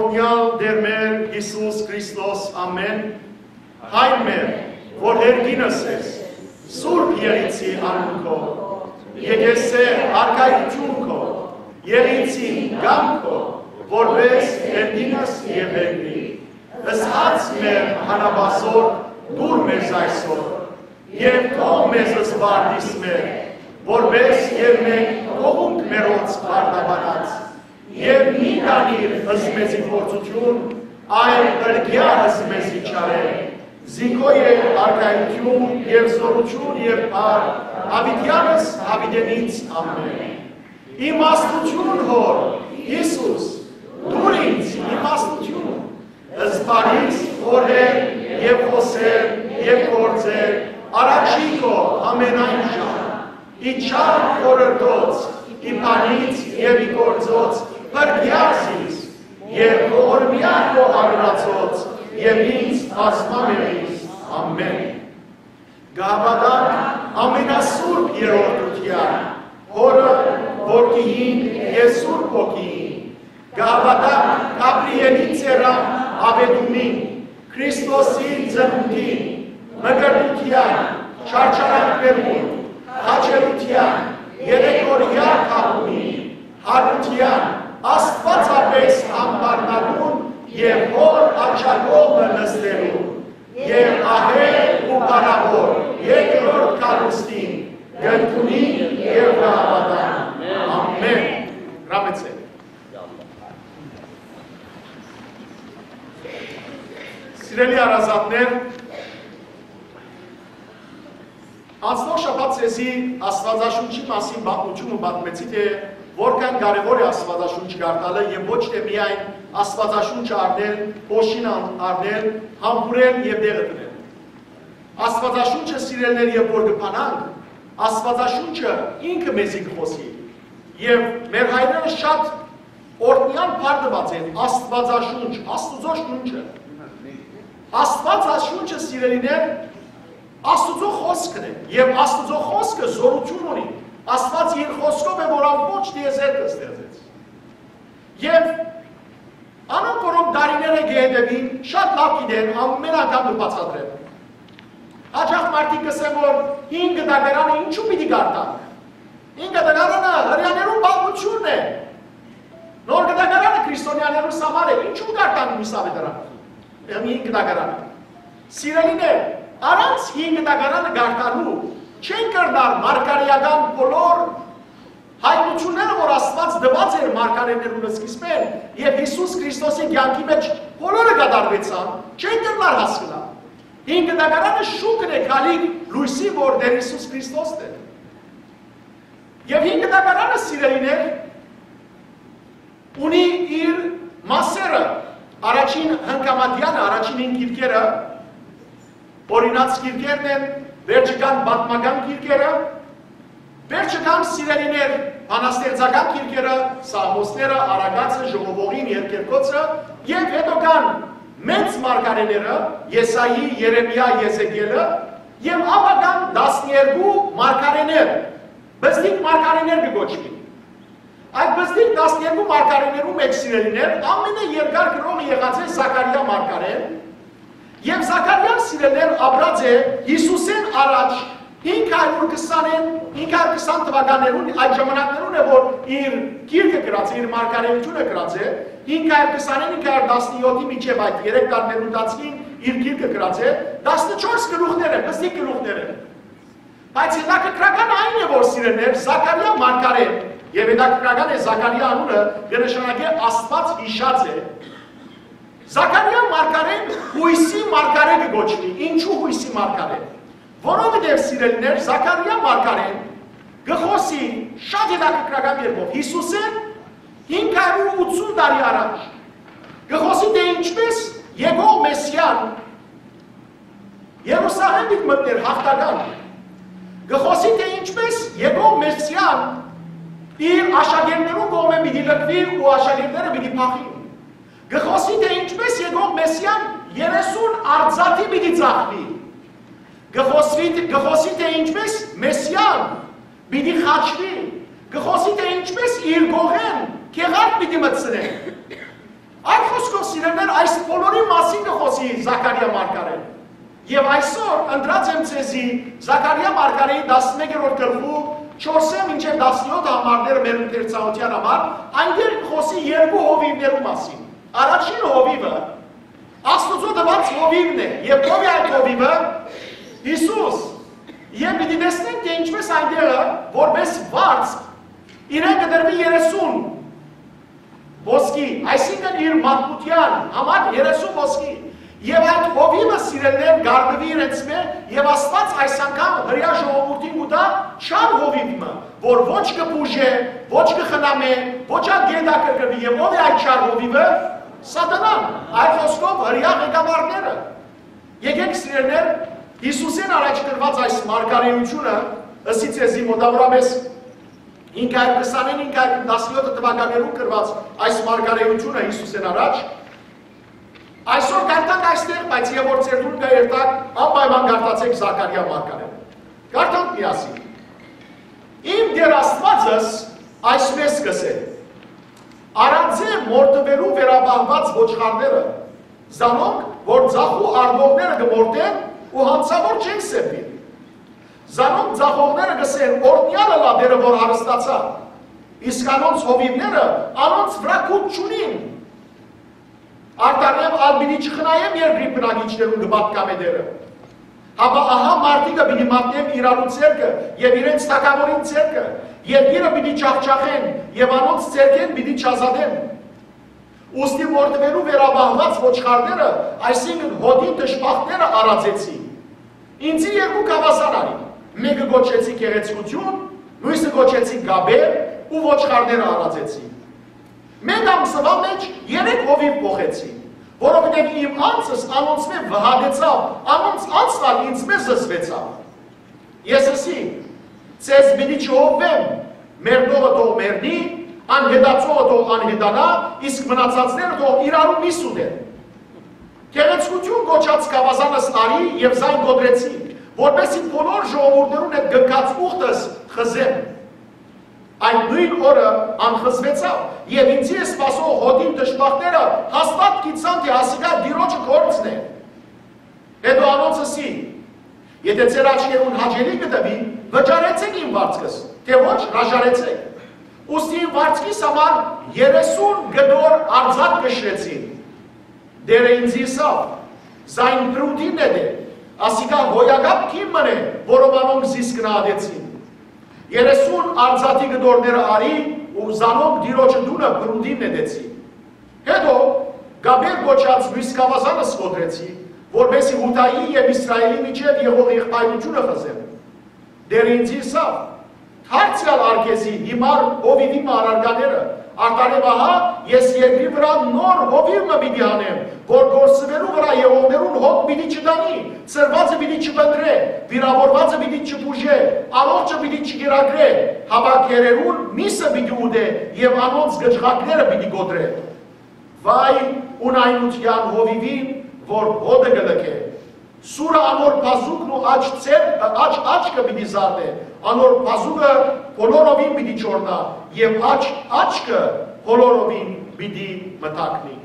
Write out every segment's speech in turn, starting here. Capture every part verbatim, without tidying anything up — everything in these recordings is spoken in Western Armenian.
Տոնեալ Տէր մեր Յիսուս Քրիստոս, ամէն։ Հայր մեր, որ երկինս ես, սուրբ եղիցի անունքով, եկեցե արքայութիւնքով, եղիցին կամքով, որպես երկինս եւ երկրի։ Ըսած մեր հանապազոր դուր մեզ այսօր, եւ թող մեզ զբաղիս մեր, որպես եւ մենք կողունք մերոց բարդաբանած, եւ մի տանիր ըսմեզի փորձութիւն, այլ ղրկեա ըսմեզի չարէ։ Զինքո է արքայութիւն եւ զօրութիւն եւ փառք, Դաւիթեանս Դաւիթենից, ամէն։ Իմաստութիւն Հոր, Յիսուս, դուր ինձ իմաստութիւն, զբաղիս խորհել եւ խօսել եւ գործել առաջի քո ամենայն ժամ, ի չար խորհրդոց, ի բանից եւ ի գործոց, փրկեա զիս, եւ ողորմեա քո արարածոց, եւ ինձ բազմամեղիս, ամէն։ Կը հաւատանք ամենասուրբ երրորդութեան, Հօրը, Որդիին եւ Սուրբ Հոգիին։ Կը հաւատանք Գաբրիէլի ծերան աւետումին, Քրիստոսի ծնունդին, մկրտութեան, չարչարանքներուն, խաչելութեան, երեքօրեայ թաղումին, յարութեան, աստուածապէս ամբարնալուն եւ Հօր աջակողմը նստելուն, եւ ահեղ ու փառաւոր երկրորդ գալուստին կ'ընդունին եւ կ'հաւատան։ Ամէն։ Հրամեցէ։ Սիրելի հարազատներ, անցնող շաբաթ ձեզի Աստուածաշունչի մասին պատմութիւնը պատմեցի, թէ որքան կարեւոր է Աստուածաշունչ կարդալը եւ ոչ թէ միայն Աստուածաշունչը առնել, փոշին ան-, առնել, համբուրել եւ տեղը դնել։ Աստուածաշունչը, սիրելիներ, երբ որ կը բանանք, Աստուածաշունչը ինքը մեզի կը խօսի։ Եւ մեր հայրերը շատ օրհնեալ բառ տուած են Աստուածաշունչ, Աստուծոյ շունչը։ Աստուածաշունչը, սիրելիներ, Աստուծոյ խօսքն է, եւ Աստուծոյ խօսքը զօրութիւն ունի։ Աստուած իր խօսքով է, որ ամբողջ տիեզերքը ստեղծեց։ Եւ անոնք, որոնք տարիներ է կը հետեւին, շատ լաւ գիտեն, ամէն անգամ կը բացատրեմ։ Հաճախ մարդիկ կ'ըսեն, որ հին կտակարանը ինչու պիտի կարդանք։ Հին կտակարանը հրեաներուն պատմութիւնն է։ Նոր կտակարանը քրիստոնեաներուն համար է, ինչու կարդանք միս աւետարան։ Հին կտակարանը։ Սիրելիներ, առանց հին կտակարանը կարդալու չեն կրնար մարգարէական բոլոր հայտնութիւնները, որ Աստուած տուած էր մարգարէներուն սկիզբէն, եւ Յիսուս Քրիստոսի կեանքի մէջ բոլորը կատարուեցան, չեն կրնար հասկնալ։ Հին կտակարանը շուկն է գալիք լոյսի, որ Տէր Յիսուս Քրիստոսն է։ Եւ հին կտակարանը, սիրելիներ, ունի իր մասերը, առաջին հնգամատեանը, առաջին հին գիրքերը, օրինաց գիրքերն են, վերջը կան պատմական գիրքերը, վերջը կան, սիրելիներ, բանաստեղծական գիրքերը, Սաղմոսները, Արագածը, Ժողովողին, Երկերկոցը, եւ հետո կան մեծ մարգարէները, Եսայի, Երեմիա, Եզեկիելը, եւ ապա կան տասներկու մարգարէներ, պզտիկ մարգարէներ կը կոչուին։ Այդ պզտիկ տասներկու մարգարէներու մէջ, սիրելիներ, ամենաերկար գրողը եղած է Զաքարիա մարգարէ, եւ Զաքարիան, սիրելիներ, ապրած է Յիսուսէն առաջ հինգ հարիւր քսանէն, հինգ հարիւր քսան թուականներուն, այդ ժամանակներուն է, որ իր գիրքը գրած է, իր մարգարէութիւնը գրած է, հինգ հարիւր քսանէն, հինգ հարիւր տասնեօթի միջեւ, այդ երեք տարիներու ընթացքին իր գիրքը գրած է, տասնչորս գլուխներ է, պզտիկ գլուխներ է։ Բայց հետաքրքրական այն է, որ, սիրելիներ, Զաքարիա մարգարէ, եւ հետաքրքրական է, Զաքարիա անունը կը նշանակէ Աստուած յիշած է, Զաքարիա մարգարէ յոյսի մարգարէ կը կոչուի։ Ինչու յոյսի մարգարէ։ Որովհետեւ, սիրելիներ, Զաքարիա մարգարէն կը խօսի շատ հետաքրքրական կերպով Յիսուսէն հինգ հարիւր ութսուն տարի առաջ, կը խօսի, թէ ինչպէս եկող Մեսիան Երուսաղէմ պիտի մտնէր յաղթական, կը խօսի, թէ ինչպէս եկող Մեսիան իր աշակերտներուն կողմէ պիտի լքուի ու աշակերտները պիտի փախին, կը խօսի, թէ ինչպէս եկող Մեսիան երեսուն արծաթի պիտի ծախուի, կը խօսի, կը խօսի, թէ ինչպէս Մեսիան պիտի խաչուի, կը խօսի, թէ ինչպէս իր կողէն գեղարդ պիտի մտցնեն։ Այլ խօսքով, Սիրելիներ, այս բոլորի մասին կը խօսի Զաքարիա մարգարեն։ Եւ այսօր ընտրած եմ ձեզի Զաքարիա մարգարեի տասնմեկերորդ գլխու չորսը մինչեւ տասնեօթ համարները մեր ընթերցանութեան համար, այնտեղ կը խօսի երկու հովիվներու մասին։ Առաջին հովիվը Աստուծոյ տուած հովիվն է, եւ ո՞վ է այդ հովիվը։ Յիսուս։ Եւ պիտի տեսնենք, թէ ինչպէս այնտեղը, որպէս վարձ, իրեն կը տրուի երեսուն ոսկի, այսինքն իր մարդկութեան համար երեսուն ոսկի։ Եւ այդ հովիվը, սիրելիներ, կ'առնուի իրենց մէ, եւ Աստուած այս անգամ հրեայ ժողովուրդին կու տայ չար հովիվ մը, որ ոչ կը բուժէ, ոչ կը խնամէ, ոչ ալ կը հետաքրքրուի։ Եւ ո՞վ է այդ չար հովիվը։ Սատանան, այլ խօսքով, հրեայ ղեկավարները։ Եկէք, սիրելիներ, Յիսուսէն առաջ գրուած այս մարգարէութիւնը, ըսի ձեզի, մօտաւորապէս հինգ հարիւր քսանին, հինգ հարիւր տասնեօթ թուականներուն գրուած այս մարգարէութիւնը Յիսուսէն առաջ, այսօր կարդանք այստեղ, բայց եւ որ ձեր դուն կայերտակ, անպայման կարդացէք Զաքարիա մարգարէ։ Կարդանք միասին։ Իմ Տէր Աստուածս այսպէս կ'ըսէ. «Արածէ մորթուելու վերապահուած ոչխարները, զանոնք, որ ձախու առնողները կը մորթեն ու յանցաւոր չեն սեպիր։ Զանոնք ձախողները կ'ըսեն. "Օրհնեալ ըլլայ Տէրը, որ հարստացաւ"։ Իսկ անոնց հովիվները անոնց վրայ գութ չունին։ Արդարեւ ալ պիտի չխնայեմ երկրի բնակիչներուն, կը պատգամէ Տէրը։ Հապա ահա մարդիկը պիտի մատնեմ իրարու ձեռքը եւ իրենց թագաւորին ձեռքը, երկիրը պիտի ջախջախեն եւ անոնց ձեռքէն պիտի չազատեմ։ Ուստի մորթուելու վերապահուած ոչխարները, այսինքն՝ հօտի դժբախտները արածեցի։ Ինծի երկու գաւազան առի, մէկը կոչեցի գեղեցկութիւն, միւսը կոչեցի կապեր ու ոչխարները արածեցի։ Մէկ ամսուայ մէջ երեք հովիւ փոխեցի, որովհետեւ իմ անձս անոնցմէ վհատեցաւ, անոնց անձն ալ ինծմէ զզվեցաւ։ Ես ըսի. "Ձեզ պիտի չհովվեմ, մեռնողը թող մեռնի, անհետացողը թող անհետանայ, իսկ մնացածները թող իրարու միւս ուտեն"։ Գեղեցկութիւն կոչած գաւազանս առի եւ զայն կոտրեցի, որպէսզի բոլոր ժողովուրդներուն հետ կնքած ուխտս խզեմ։ Այդ նոյն օրը անխզուեցաւ, եւ ինծի սպասող հօտին դժբախտները հաստատ գիտցան թէ ասիկա Տիրոջը գործն է։ Հետո անոնց ըսի. "Եթէ ձեր աչքերուն հաճելի կը թուի, վճարեցէք իմ վարձքս, թէ ոչ՝ հրաժարեցէք"։ Ուստի իմ վարձքիս համար երեսուն կտոր արձակ կշռեցին։ Տէրը ինծի ըսաւ. "Զայն Պրուտին նետէ, ասիկա հոյակապ գին մըն է, որով անոնք զիս գնահատեցին"։ Երեսուն արձակի կտորները առի ու զանոնք Տիրոջը տունը Պրուտին նետեցի։ Հետո կապեր կոչած միւս գաւազանս կոտրեցի, որպէսզի Յուդայի եւ Իսրայէլի միջեւ եղող եղբայրութիւնը խզեմ։ Տէրը ինծի ըսաւ. "Դարձեալ ար քեզի հիմար հովիւի մը առարկաները, արդարեւ ահա ես երկրի վրայ նոր հովիւ մը պիտի հանեմ, որ կորսուելու վրայ եղողներուն հոգ պիտի չտանի, ցրուածը պիտի չփնտռէ, վիրաւորուածը պիտի չբուժէ, առողջը պիտի չկերակրէ, հապա գերերուն միւսը պիտի ուտէ եւ անոնց կչղակները պիտի կոտրէ"։ Վայ ունայնութեան հովիւին, որ հօտը կը լքէ։ Սուրը անոր բազուկն ու աջ ձեռ-, աջ աչքը պիտի զարնէ, անոր բազուկը բոլորովին պիտի չորնայ եւ աջ աչքը բոլորովին պիտի մթագնի։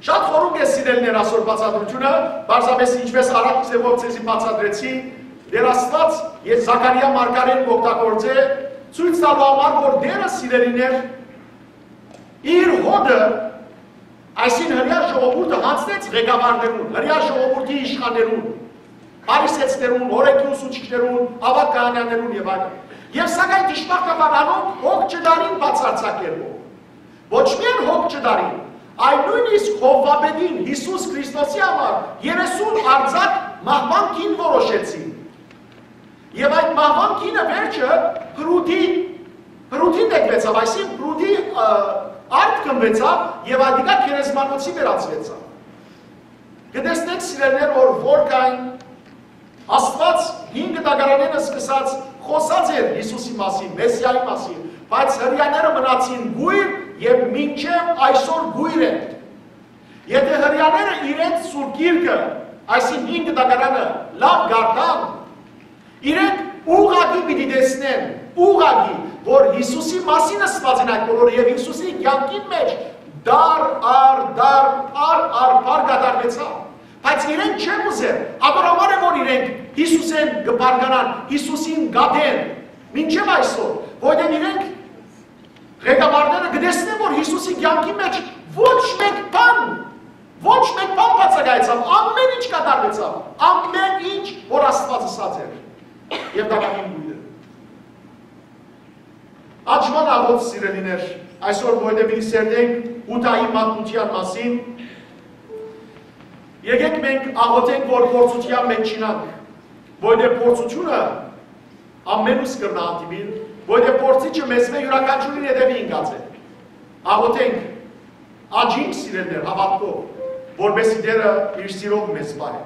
Շատ խորունկ է, սիրելիներ, այսօր բացատրությունը, պարզապէս ինչպես առաջ ձեւով ձեզի բացատրեցի, Տէր Աստուած եւ Զաքարիա մարգարէն կ'օգտագործէ, ցոյց տալու համար, որ Տէրը, սիրելիներ, իր հօտը, այսինքն՝ հրեայ ժողովուրդը յանձնեց ղեկավարներուն, հրեայ ժողովուրդի իշխաններուն, փարիսեցիներուն, օրէնքի ուսուցիչներուն, աւագ քահանաներուն եւ այլն։ Եւ սակայն դժբախտաբար անոնք հոգ չտարին բացարձակ կերպով։ Ոչ միայն հոգ չտարին, այլ նոյնիսկ Հովուապետին, Յիսուս Քրիստոսի համար երեսուն արձակ մահուան գին որոշեցին։ Եւ այդ մահուան գինը վերջը Պրուտի, Պրուտին նետուեցաւ, այսինքն՝ Պրուտի, ը, արդ գնուեցաւ եւ ատիկա գերեզմանոցի վերածուեցաւ։ Կը տեսնենք, սիրելիներ, որ որքան Աստուած հին կտակարանէն սկսած խօսած էր Յիսուսի մասին, Մեսիայի մասին, բայց հրեաները մնացին կույր եւ մինչեւ այսօր կույր են։ Եթէ հրեաները իրենց Սուրբ Գիրքը, այսինքն՝ հին կտակարանը, լաւ կարդան, իրենք ուղղակի պիտի տեսնեն, ուղղակի, որ Յիսուսի մասին ըսուած են այդ բոլորը, եւ Յիսուսի կեանքին մէջ դար առ դար բարձրանան Յիսուսին կատեն, մինչեւ այսօր, որտեղ իրենք ղեկավարները կը տեսնեն, որ Յիսուսի կեանքի մէջ ոչ մէկ բան, ոչ մէկ բան բացակայեցաւ, ամէն ինչ կատարուեցաւ, ամէն ինչ որ Աստուած ըսած էր, եւ տակաւին կոյտը։ Աջման աղոթ, սիրելիներ, այսօր որտեղ պիտի սերտենք Յուդայի մատնութեան մասին, եկեք մենք աղոթենք, որ փորձութեան մէջ չինանք, որտեղ փորձութիւնը ամենուս կրնայ հանդիպիլ, որտեղ փորձիչը մեզմէ յուրաքանչիւրին հետեւի ինկած է։ Աղոթենք, աջինք, սիրելիներ, հաւատքով, որպեսզի Տէրը իր սիրով մեզ պահէ։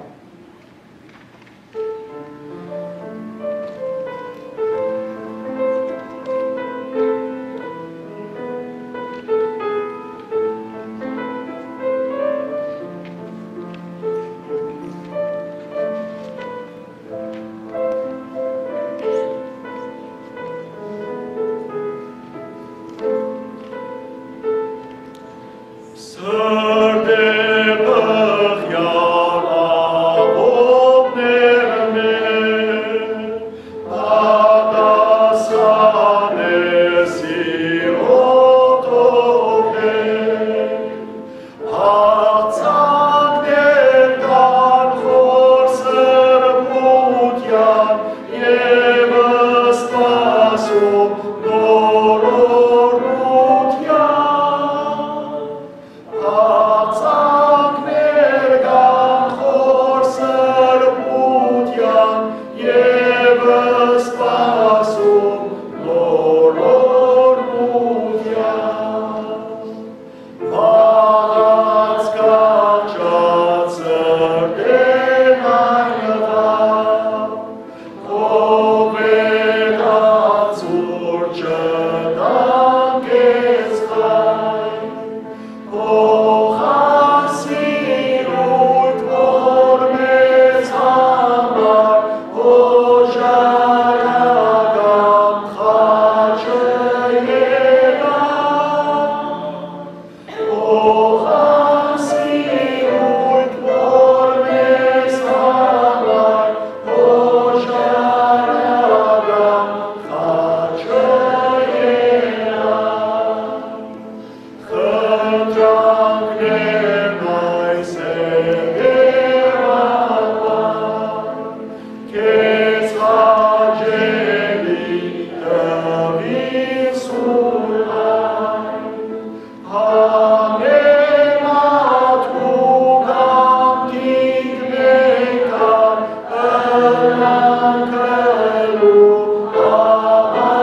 Սրտէ բղեալ աղօթքներմէ, պատասխանէ սիրով թողել։ Աղցանքներ կան խոր սրբութեան եւ սպասում նոր օրհնութեան։ Աղցանքներ կան խոր սրբութեան եւ սպասում նոր օրհնութեան։ Վաղած կառչած սրտէն այլուած, քո վեհացուր չտան քեզ խայ, փոխան սիրոյդ, որ մեզ համար օժարական խաչը ելայ։ Փոխան սիրոյդ, որ մեզ համար օժարական խաչը ելայ։ Խնդրանքներն այս է դերմանուան, քեզ հաճելի տուին սուրհայ։ Համեմատուկ անդինք մենք ալ ըլլանք քու աբադացեան։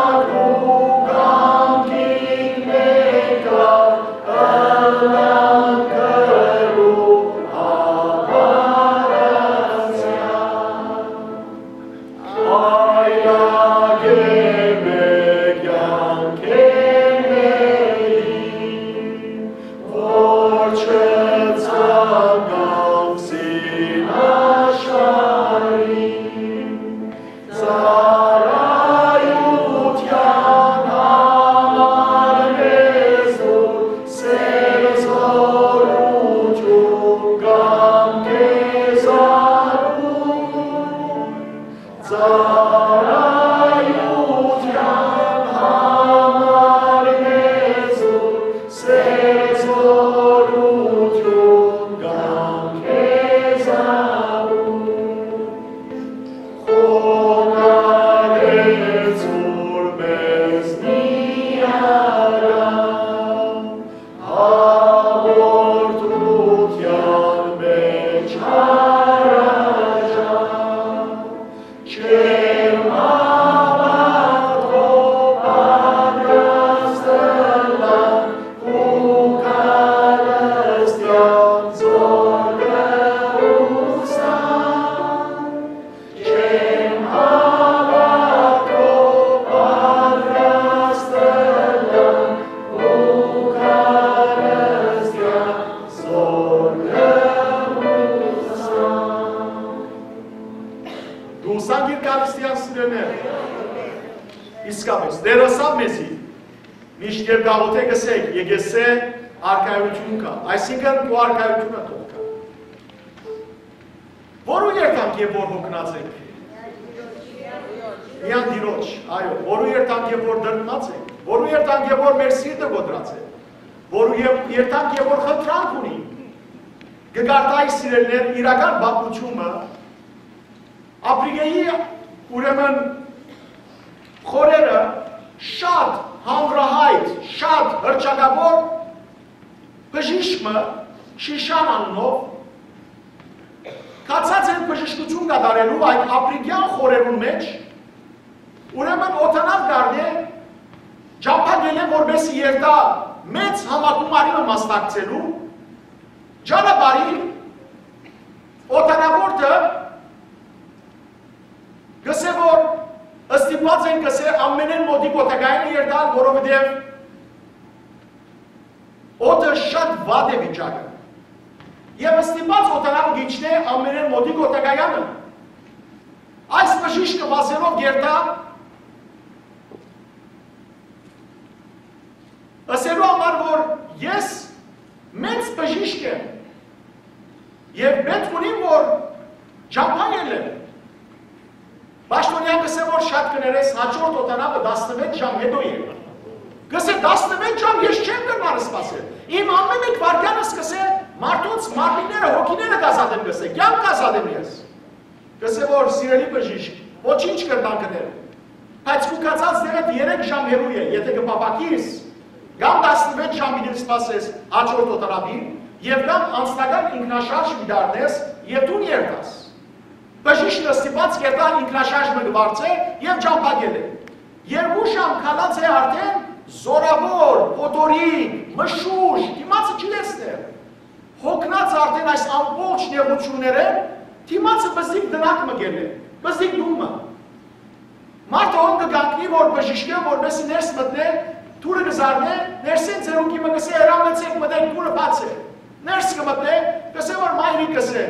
Համեմատուկ անդինք մենք ալ ըլլանք քու աբադացեան։ Այլագէ մէկ կեանքէն մերին, որ չցանկանք սին աշխարհին, ծառայութեան համար մեզ տուր սեր զօրութիւն կամ քեզ արուր։ Ծառայութեան համար մեզ տուր սեր զօրութիւն կամ քեզ արուր։ Խոնարհեցուր մեզ միառան, հաղորդութեան մէջ հրաժար, չեմ հաւատքով պատրաստ ըլլանք քու քարստեան զօրքը ուսանք։ Չեմ հաւատքով պատրաստ ըլլանք քու քարստեան զօրքը ուսանք։ Դու ուսանք իր քարստեան, սիրելիներ։ Իսկապէս, Տէրը ըսաւ մեզի, մինչդեռ կ'աղօթէք, ըսէք, եկեղեցէ Արքայութիւն կայ, այսինքն՝ քու արքայութիւնը թող գայ։ Որո՞ւ երթանք է որ յոգնած ենք։ Միան Տիրոջ, այո, որո՞ւ երթանք է որ դրդմած ենք, որո՞ւ երթանք է որ մեր սիրտը կոտրած է, որո՞ւ ե-, երթանք է որ խնդրանք ունի։ Կը կարդայի, սիրելիներ, իրական պատմութիւնը, Ափրիկէի, ուրեմն, խորերը շատ հանրահայտ, շատ հռչակաւոր բժիշկ մը, Շիշան անունով, գացած էր բժշկութիւն կատարելու այդ ափրիկեան խորերուն մէջ, ուրեմն օդանաւ կ'առնէ, ճամբայ գելէ, որպէս երթայ մեծ համագումարի մը մասնակցելու, ճանապարհին օդանաւորդը կ'ըսէ, որ ստիպուած են, կ'ըսէ, ամենէն մօտիկ օդակայանը երթալ, որովհետեւ օդը շատ վատ է վիճակը։ Եւ ստիպուած օդանաւը կ'իջնէ ամենէն մօտիկ օդակայանը։ Այս բժիշկը վազելով կ'երթայ, ըսելու համար, որ ես մեծ բժիշկ եմ եւ պէտք ունիմ, որ ճամբայ ելեմ։ Պաշտօնեան կ'ըսէ, որ շատ կը ներես, հաջորդ օդանաւը տասնեւէթ ժամ յետոյ է։ Կ'ըսէ, «Տասնեւէթ ժամ ես չեմ կրնար սպասել։ Իմ ամէն մէկ վայրկեանս», կ'ըսէ, «մարդոց մարմինները, հոգիները կ'ազատեմ», կ'ըսէ, «կեանք կ'ազատեմ ես»։ Կ'ըսէ, որ, «Սիրելի բժիշկ, ոչինչ կրնան գնել, բայց քու գացած տեղէդ երեք ժամ հեռու է, եթէ կը փափաքիս, կամ տասնեւէթ ժամ պիտի սպասես հաջորդ օդանաւին, եւ կամ անձնական ինքնաշարժ պիտի առնես եւ տուն երթաս»։ Բժիշկը ստիպուած կ'երթայ, ինքնաշարժ մը կը վարձէ եւ ճամբայ ելլէ։ Երկու ժամ քալած է արդէն, զօրաւոր, փոթորիկ, մշուշ, դիմացը չի տեսներ։ Յոգնած արդէն այս ամբողջ նեղութիւններէն, դիմացը պզտիկ տնակ մը կ'ելլէ, պզտիկ տուն մը։ Մարդը հոն կը կանգնի, որ բժիշկը, որպէս զի ներս մտնէ, դուռը կը զարնէ, ներսէն ծերուկի մը կ'ըսէ, «Հրամեցէք, մտէք, դուռը բաց է»։ Ներս կը մտնէ, կ'ըսէ, որ, «Մայրիկ», կ'ըսէ,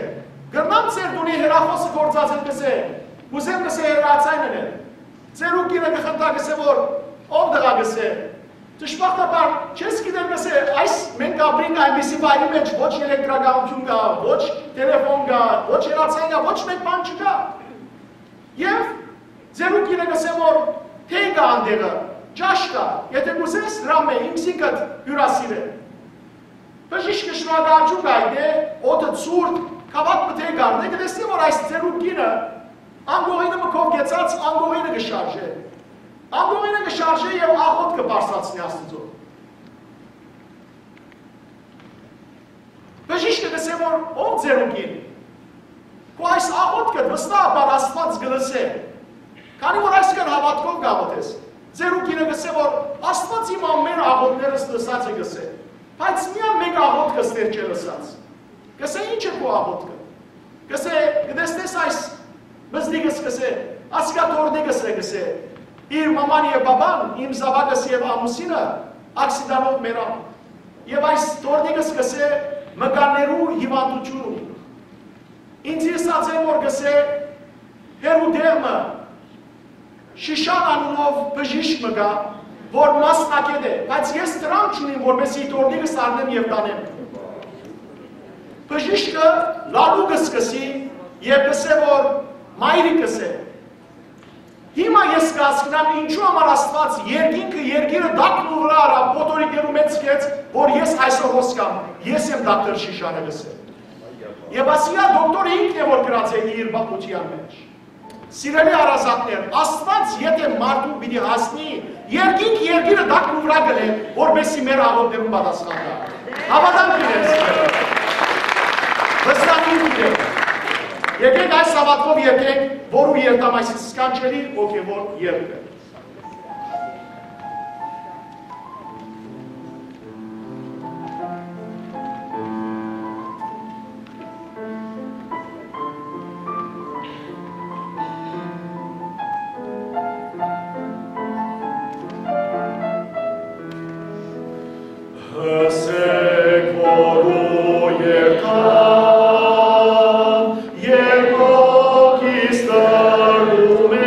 «կրնա՞մ ձեր տունի հեռախօսը գործածել», կ'ըսէ, «կ'ուզեմ», կ'ըսէ, «հեռաձայն ընել»։ Ծերուկինը կը խնդայ, կ'ըսէ, որ, «Ով տղայ», կ'ըսէ, «դժբախտաբար չես գիտեր», կ'ըսէ, «այս մենք ապրինք այնպիսի վայրի մէջ, ոչ էլեկտրականութիւն կայ, ոչ թելեֆոն կայ, ոչ հեռաձայն կայ, ոչ մէկ բան չկայ»։ Եւ ծերուկինը կ'ըսէ, որ, «Թեյ կայ անտեղը, ճաշ կայ, եթէ կ'ուզես, հրամէ, ինքզինքդ հիւրասիրէ»։ Բժիշկը շնորհակալութիւն կ'այտնէ, օդը ցուրտ, գաւաթ մը թեյ կ'առնէ, կը տեսնէ, որ այս ծերուկինը անկողինը մը քով կեցած, անկողինը կը շարժէ։ Անկողինը կը շարժէ եւ աղօթքը բարձրացնէ Աստուծոյ։ Բժիշկը կ'ըսէ, որ, «Ով ծերուկին, քու այս աղօթքը վստահաբար Աստուած կը լսէ, քանի որ այսքան հաւատքով կ'աղօթես»։ Ծերուկինը կ'ըսէ, որ, «Աստուած իմ ամէն աղօթքներս լսած է», կ'ըսէ, «բայց միայն մէկ աղօթքը ստեր չէ լսած»։ Կ'ըսէ, «Ի՞նչ է քու աղօթքը»։ Կ'ըսէ, «Կը տեսնես այս պզտիկս», կ'ըսէ, «ասկա թոռնիկս է», կ'ըսէ, «իր մաման եւ պապան, իմ զաւակս եւ ամուսինը աքսիդանով մեռան։ Եւ այս թոռնիկս», կ'ըսէ, «մկաններու հիւանդութիւն ունի։ Ինձ ըսած են, որ», կ'ըսէ, «հեռու տեղ մը Շիշան անունով բժիշկ մը կայ, որ մասնակետ է, բայց ես դրամ չունիմ, որպեսզի թոռնիկս առնեմ եւ տանեմ»։ Բժիշկը լալու կը սկսի եւ կ'ըսէ, որ, «Մայրիկ», կ'ըսէ, «հիմա ես կ'հասկնամ, ինչու համար Աստուած երկինքը, երկիրը տակն ու վրայ առաւ, փոթորիկներու մէջ գեց, որ ես այսօր հոս կամ, ես եմ դոկտոր Շիշանը», կ'ըսէ։ Եւ ասիկա դոկտորը ինքն է, որ գրած է իր պատմութեան մէջ։ Սիրելի հարազատներ, Աստուած եթէ մարդուն պիտի հասնի, երկինք երկիրը տակ ու վրայ կ'ընէ, որպեսզի մեր աղօթքներուն պատասխան տայ։ Հաւատանք ունեմ, սիրելի։ Վստահ եմ, գիտեմ։ Եկեք այս հաւատքով երգենք, որու երթամ այս սքանչելի հոգեւոր երգը։ Ըսեք, որ ու երկան, երկոք իստարում է։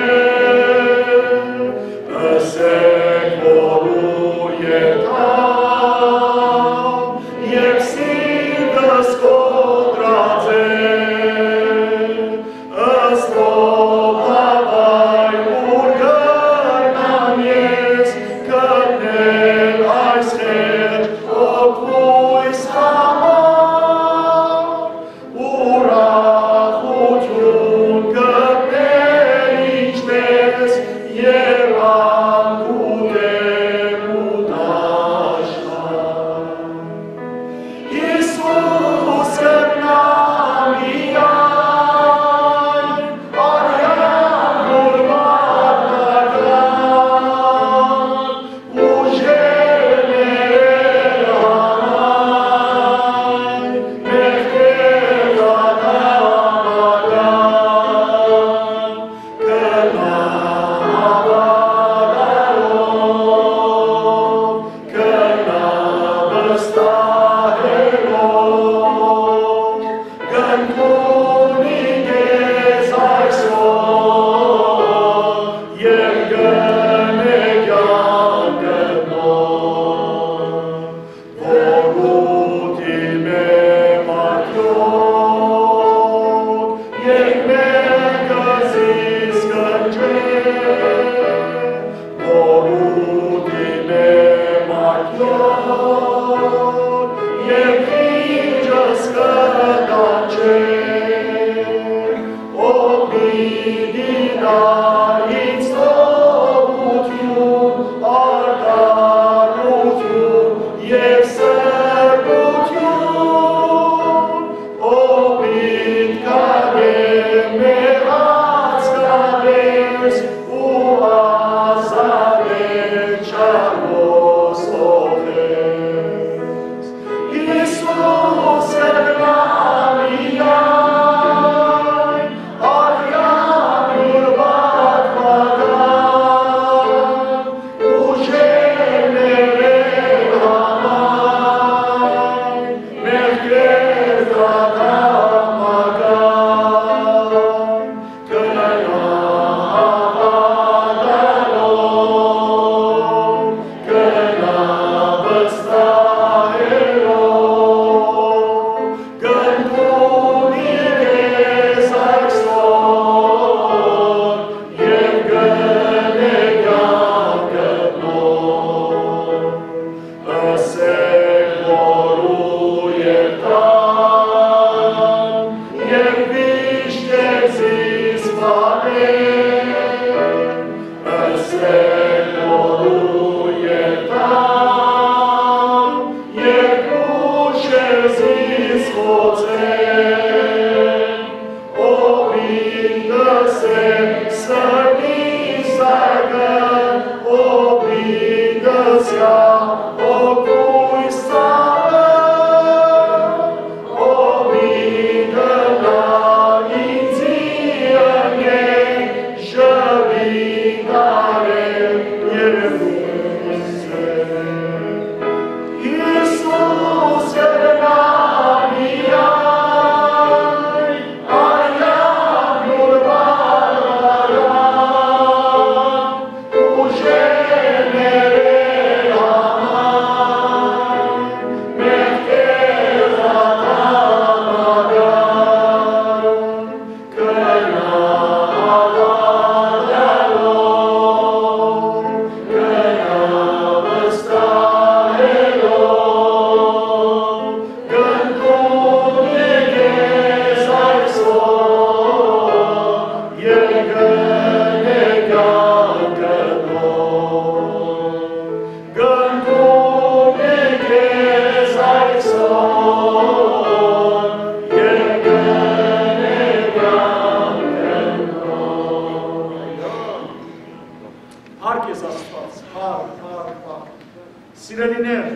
Պարզ, պարզ, պարզ։ Սիրելիներ,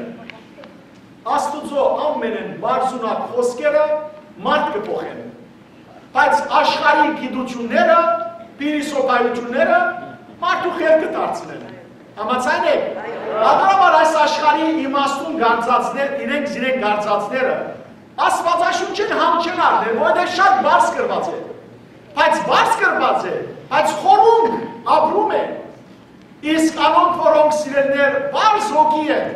Աստուծոյ ամենէն պարզունակ խօսքերը մարդ կը փոխեն, բայց աշխարհի գիտութիւնները, փիլիսոփայութիւնները մարդու խելքը դարձնեն։ Համաձայն եք։ Ատորաբար այս աշխարհի իմաստուն գանձածներ, իրենք զիրենք գանձածները Աստուածաշունչէն համ չեն առներ, որովհետեւ շատ պարզ գրուած է։ Բայց պարզ գրուած է, բայց խորունկ ապրում է։ Իսկ անոնք, որոնք, սիրելիներ, պարզ հոգի են,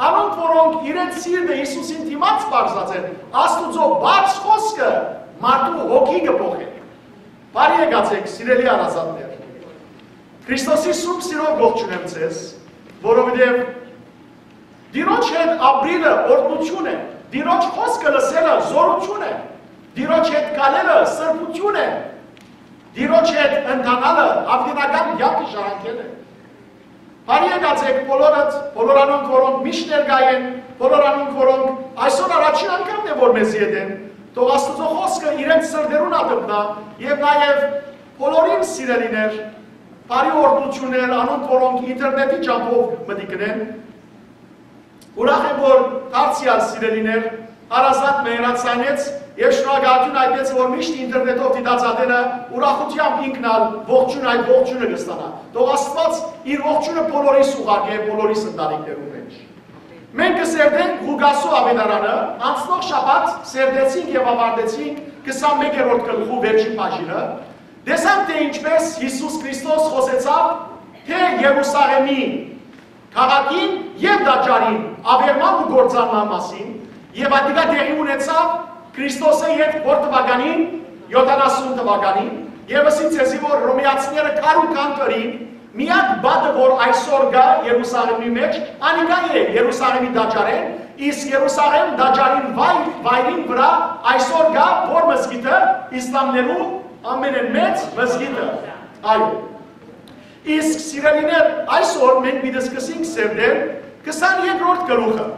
անոնք, որոնք իրենց սիրտը Յիսուսին դիմաց պարզած են, Աստուծոյ պարզ խօսքը մարդու հոգի կը փոխեն։ Բարի եկած եք, սիրելի հարազատներ։ Քրիստոսի սուրբ սիրով ողջունեմ ձեզ, որովհետեւ Տիրոջ հետ ապրիլը օրհնութիւն է, Տիրոջ խօսքը լսելը զօրութիւն է, Տիրոջ հետ քալելը սրբութիւն է, Տիրոջ հետ ընթանալը յաւիտենական կեանքը ժառանգելն է։ Բարի եկած եք բոլորդ, բոլոր անոնք, որոնք միշտ ներկայ են, բոլոր անոնք, որոնք այսօր առաջին անգամն է, որ մեզի հետ են, թող Աստուծոյ խօսքը իրենց սրտերուն ատմնայ եւ նաեւ բոլորին, սիրելիներ, բարի օրհնութիւններ անոնք, որոնք ինտերնետի ճամբով մտիկ են։ Ուրախ եմ, որ դարձեալ, սիրելիներ, հարազատ մը հեռացանեց եւ շնորհակալութիւն այդպես, որ միշտ ինտերնետով դիտած ատենը ուրախութեամբ ինքն ալ ողջուն, այդ ողջունը կստանայ։ Թող Աստուած իր ողջունը բոլորիս ուղարկէ, բոլորիս ընտանիքներուն մէջ։ Մենք կը սերտենք Ղուկասու աւետարանը, անցնող շաբաթ սերտեցինք եւ աւարտեցինք քսանմեկերորդ գլխու վերջին բաժինը։ Տեսանք, թէ ինչպէս Յիսուս Քրիստոս խօսեցաւ թէ Երուսաղէմի քաղաքին եւ տաճարին աւերման ու կործանման մասին, եւ ատիկա տեղի ունեցաւ Քրիստոսէ ետք որ թուականին, յոթանասուն թուականին, եւ ըսի ձեզի, որ Հռոմեացիները քարու քան կրին, միակ պատը, որ այսօր կայ Երուսաղէմի մէջ, անիկա է Երուսաղէմի տաճարէն, իսկ Երուսաղէմ տաճարին վայ-, վայրին վրայ այսօր կայ որ մզկիթը, իսլամներու ամենէն մեծ մզկիթը։ Այո։ Իսկ, սիրելիներ, այսօր մենք պիտի սկսենք սերտել քսաներկրորդ գլուխը։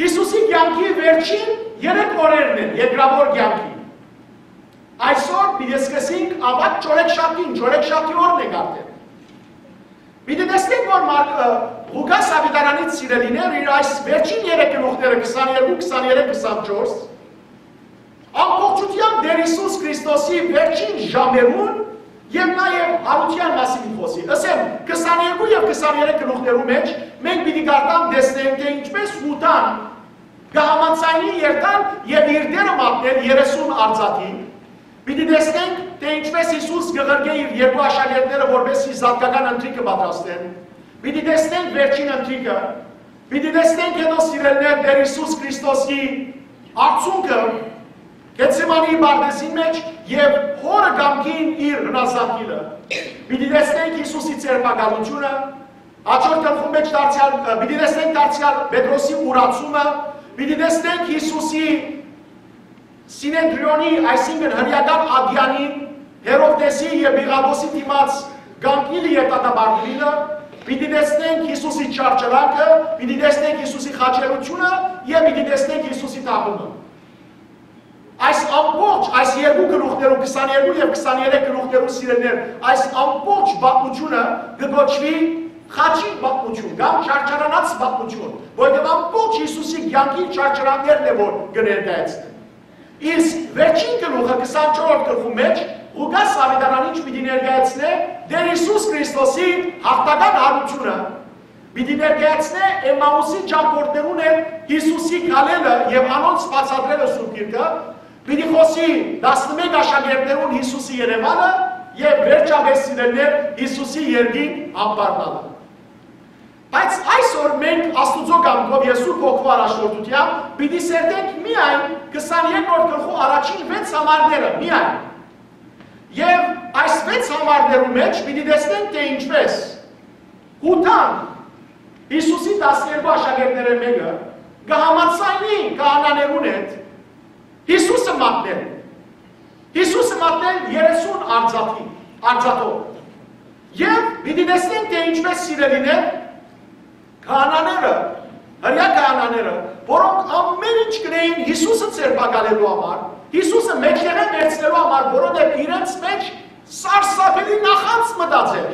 Յիսուսի կեանքի վերջին երեք օրերն են, երկրաւոր կեանքի։ Այսօր պիտի սկսենք աւագ չորեքշաբթին, չորեքշաբթի օրն ենք արդեն։ Պիտի տեսնենք, որ Մար-, ը, Ղուկաս աւետարանից, սիրելիներ, իր այս վերջին երեք գլուխները, քսաներկու, քսաներեք, քսանչորս, ամբողջութեամբ Տէր Յիսուս Քրիստոսի վերջին ժամերուն եւ նաեւ յարութեան մասին կը խօսի։ Ըսեմ, քսաներկու եւ քսաներեք գլուխներու մէջ մենք պիտի կարդանք, տեսնենք, թէ ինչպէս Յուդան կը համաձայնի երթալ եւ իր Տէրը մատնել երեսուն արծաթի, պիտի տեսնենք, թէ ինչպէս Յիսուս կը ղրկէ իր երկու աշակերտները, որպէս զի զատկական ընթրիքը պատրաստեն։ Պիտի տեսնենք վերջին ընթրիքը, պիտի տեսնենք հետո, սիրելիներ, Տէր Յիսուս Քրիստոսի արցունքը Գեթսեմանի պարտեզին մէջ եւ Հօրը կամքին իր հնազանդիլը։ Պիտի տեսնենք Յիսուսի ձերբակալութիւնը, հաջորդ գլխուն մէջ դարձեալ, ը, պիտի տեսնենք դարձեալ Պետրոսի ուրացումը, պիտի տեսնենք Յիսուսի Սինեդրիոնի, այսինքն՝ հրեական ատեանին, Հերովդէսի եւ Պիղատոսի դիմաց կանգնիլը եւ դատապարտուիլը, պիտի տեսնենք Յիսուսի չարչարանքը, պիտի տեսնենք Յիսուսի խաչելությունը եւ պիտի տեսնենք Յիսուսի թաղումը։ Այս ամբողջ, այս երկու գլուխներու, քսաներկու եւ քսաներեք գլուխներու, սիրելիներ, այս ամբողջ պատմութիւնը կը կոչուի խաչի պատմութիւն կամ չարչարանաց պատմութիւն, որովհետեւ ամբողջ Յիսուսի կեանքի չարչարանքներն է, որ կը ներկայացնեն։ Իսկ վերջին գլուխը, քսանչորսերորդ գլխու մէջ, Ղուկաս աւետարանիչ պիտի ներկայացնէ Տէր Յիսուս Քրիստոսի յաղթական յարութիւնը, պիտի ներկայացնէ Էմմաուսի ճամբորդներուն հետ Յիսուսի քալելը եւ անոնց բացատրելը Սուրբ Գիրքը, պիտի խօսի տասնմէկ աշակերտներուն Յիսուսի երեւանը եւ վերջապէս, սիրելիներ, Յիսուսի երկրին ամբարնալը։ Բայց այսօր մենք Աստուծոյ կամքով եւ Սուրբ Հոգու առաջնորդութեամբ պիտի սերտենք միայն քսաներկրորդ գլխու առաջին վեց համարները, միայն։ Եւ այս վեց համարներու մէջ պիտի տեսնենք, թէ ինչպէս Յուդան, Յիսուսի տասներկու աշակերտներէն մէկը, կը համաձայնի քահանաներուն հետ Յիսուսը մատնել։ Յիսուսը մատնել երեսուն արծաթի, արծաթով։ Եւ պիտի տեսնենք, թէ ինչպէս, սիրելիներ, քահանաները, հրեայ քահանաները, որոնք ամեն ինչ կրեին Յիսուսը ձերբակալելու համար, Յիսուսը մէջտեղէ վերցնելու համար, որովհետեւ իրենց մէջ սարսափելի նախանձ մտած էր։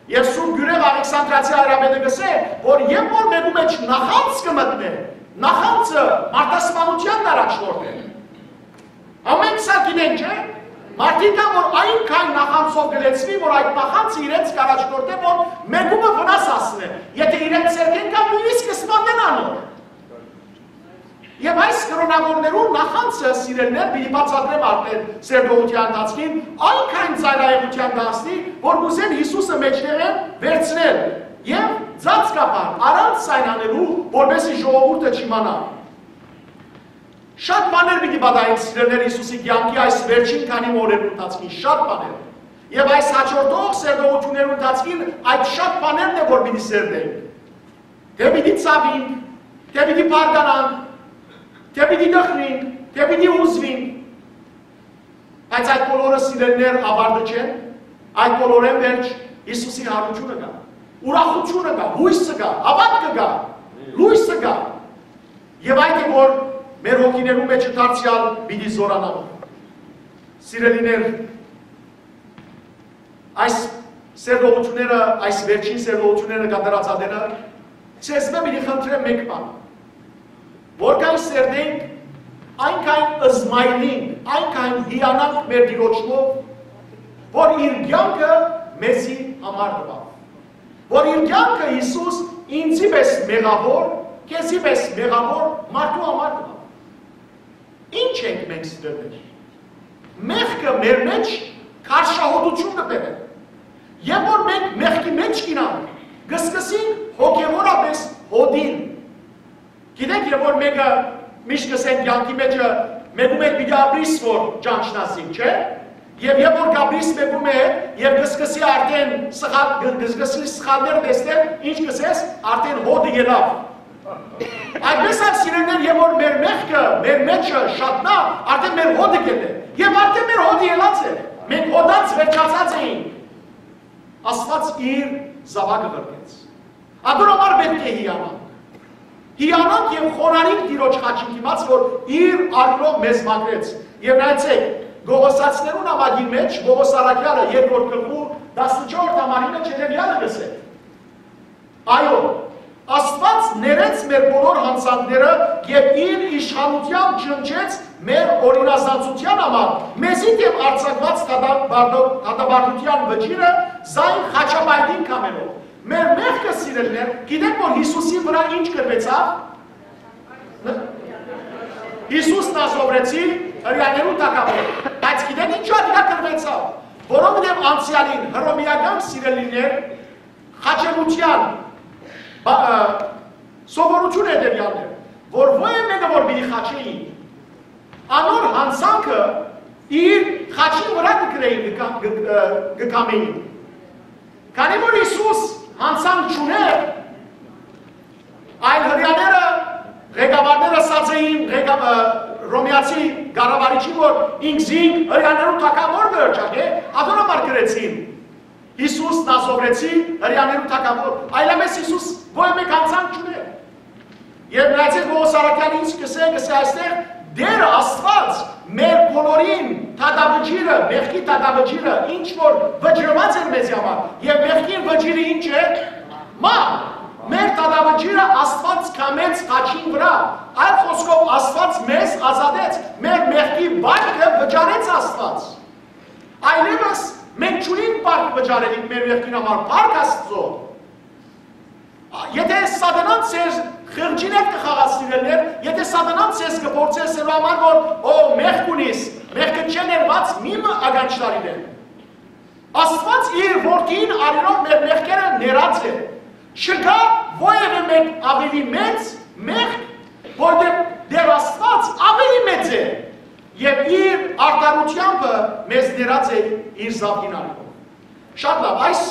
Եւ Սուրբ Գիւրեւ Աղեքսանդրացի հայրապետը կ'ըսէ, որ երբ որ մէկու մէջ նախանձ կը մտնէ, նախանձը մարդասպանութեան առաջնորդ է։ Ամէնք սա գիտեն, չէ՞։ Մարդիկ կան, որ այնքան նախանձով կը լեցուին, որ այդ նախանձը իրենց կ'առաջնորդէ, որ մէկու մը վնաս հասնէ։ Եթէ իրենց սերկեն կայ, նոյնիսկ կը սպանեն անոր։ Եւ այս կրօնաւորներուն նախանձը, սիրելիներ, պիտի բացատրեմ արդեն սերտողութեան ընթացքին, այնքան ծայրայեղութեան կը հասնի, որ կ'ուզեն Յիսուսը մէջտեղէն վերցնել եւ ծածկաբար, առանց սայնանելու, որպեսզի ժողովուրդը չիմանայ։ Շատ բաներ պիտի պատահեն, սիրելիներ, Յիսուսի կեանքի այս վերջին քանի օրերու ընթացքին, շատ բաներ։ Եւ այս հաջորդող սերտողութիւններու ընթացքին այդ շատ բաներն է, որ պիտի սերտենք։ Թէ պիտի ցաւինք, թէ պիտի բարկանանք, թէ պիտի տխրինք, թէ պիտի հուզուինք։ Բայց այդ բոլորը, սիրելիներ, աւարտը չեն, այդ բոլորէն վերջ Յիսուսի հարութիւնը կայ, ուրախութիւնը կայ, յոյսը կայ, հաւատքը կայ, լոյսը կայ։ Եւ այդ է, որ մեր հոգիներու մէջ դարձեալ պիտի զօրանայ։ Սիրելիներ, այս սերտողութիւնները, այս վերջին սերտողութիւնները կատարած ատենը, ձեզմէ պիտի խնդրեմ մէկ բան, որքան սերտենք, այնքան զմայլինք, այնքան հիանանք մեր Տիրոջմով, որ իր կեանքը մեզի համար տուաւ, որ իր կեանքը Յիսուս ինծի պէս մեղաւոր, քեզի պէս մեղաւոր մարդու համար տուաւ։ Ի՞նչ ենք մենք, սիրելիներ։ Մեղքը մեր մէջ քարշահոտութիւն կը բերէ։ Երբ որ մենք մեղքի մէջ կ'ինանք, կը սկսենք հոգեւորապէս հոտիլ։ Գիտեք, երբ որ մէկը, միշտ կ'ըսեն, կեանքի մէջը մէկու մէջ պիտի ապրիս, որ ճանչնաս զինք, չէ՞։ Եւ երբ որ կ'ապրիս մէկու մէջ եւ կը սկսի արդեն սխալ-, կը, կը սկսի սխալներ տեսնել, ինչ կ'ըսես, արդեն հոտը ելաւ։ Այդպես ալ, սիրելիներ, երբ որ մեր մեղքը մեր մէջը շատնայ, արդեն մեր հոտը կ'ելլէ։ Եւ արդեն մեր հոտը ելած է։ Մենք հոտած վերջացած էինք։ Աստուած իր զաւակը ղրկեց։ Ատոր համար պէտք է հիանանք։ Հիանանք եւ խոնարհինք Տիրոջ խաչին դիմաց, որ իր արիւնով մեզ մաքրեց։ Եւ նայեցէք, Կողոսացիներուն աւագին մէջ Պողոս առաքեալը երկրորդ գլխու տասնչորս համարի մէջ հետեւեալը կ'ըսէ. Այո, Աստուած ներեց մեր բոլոր յանցանքները եւ իր իշխանութեամբ ջնջեց մեր օրինազանցութեան համար մեզի դէմ արձակուած դատապարտո-, դատապարտութեան վճիռը զայն խաչապայտին կամելով։ Մեր մեղքը, սիրելիներ, գիտեք, որ Յիսուսի վրայ ինչ կրուեցաւ։ Յիսուս Նազովրեցի, հրեաներու թագաւոր։ Բայց գիտեք, ինչու ատիկա կրուեցաւ։ Որովհետեւ անցեալին հռոմէական, սիրելիներ, խաչելութեան բա-, ը, սովորութիւնը հետեւեալն էր, որ ոեւ մէկը որ պիտի խաչէին, անոր յանցանքը իր խաչին վրայ կը գրէին, կը կա-, կը, ը, կը կամէին։ Քանի որ Յիսուս յանցանք չունէր, այլ հրեաները, ղեկավարները ըսած էին ղեկա-, ը, հռոմեացի կառավարիչին, որ ինքզինք հրեաներու թագաւոր կը հռչակէ, ատոր համար գրեցին. Յիսուս Նազովրեցի, հրեաներու թագաւոր, այլապես Յիսուս ոեւ մէկ յանցանք չունէր։ Եւ նայեցէք, Պողոս առաքեալը ինչ կ'ըսէ, կ'ըսէ այստեղ. «Տէր Աստուած մեր բոլորին դատավճիռը, մեղքի դատավճիռը, ինչ որ վճռուած էր մեզի համար, եւ մեղքին վճիռը ի՞նչ է։ Մահ։ Մեր դատավճիռը Աստուած կամեց խաչին վրայ։ Այլ խօսքով, Աստուած մեզ ազատեց, մեր մեղքի վարկը վճարեց Աստուած։ Այլեւս մենք չունենք վարկ վճարելիք մեր մեղքին համար, փառք Աստուծոյ»։ Եթէ Սատանան ձեր խղճին հետ կը խաղացնի, սիրելիներ, եթէ Սատանան ձեզ կը փորձէ սելու համար, որ, «Ո, մեղք ունիս, մեղքը չէ ներված, մի մը ականջ տար իրեն»։ Աստուած իր որդին արիւնով մեր մեղքերը ներած է։ Չկայ որեւէ մէկ ավելի մեծ մեղք, որտեղ Տէր Աստուած ավելի մեծ է եւ իր արդարութեամբը մեզ ներած է իր զաւկին արիւնով։ Շատ լաւ, այս,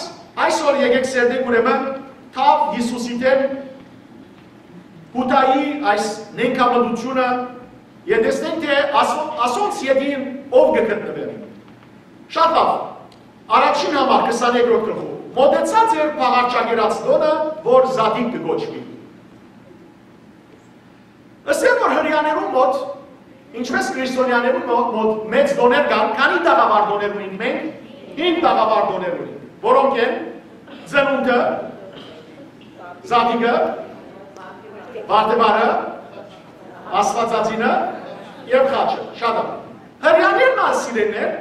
այսօր եկեք սերտենք ուրեմն թաւ Յիսուսի դէմ Յուդայի այս նենգամտությունը եւ տեսնենք, թէ ասո-, ասոնց ետին ով կը գտնուէր։ Շատ լաւ, առաջին համար քսաներկրորդ գլխու. «Մօտեցած էր փաղարչակերաց տօնը, որ Զատիկ կը կոչուի»։ Ըսել որ հրեաներուն մօտ, ինչպես քրիստոնեաներուն մօ-, մօտ մեծ տօներ կան, քանի՞ տաղաւար տօներ ունենք մենք, հինգ տաղաւար տօներ ունենք, որոնք են Ծնունդը, Զատիկը, Վարդեվարը, Աստուածածինը եւ Խաչը։ Շատ ա։ Հրեաներն ալ, սիրելիներ,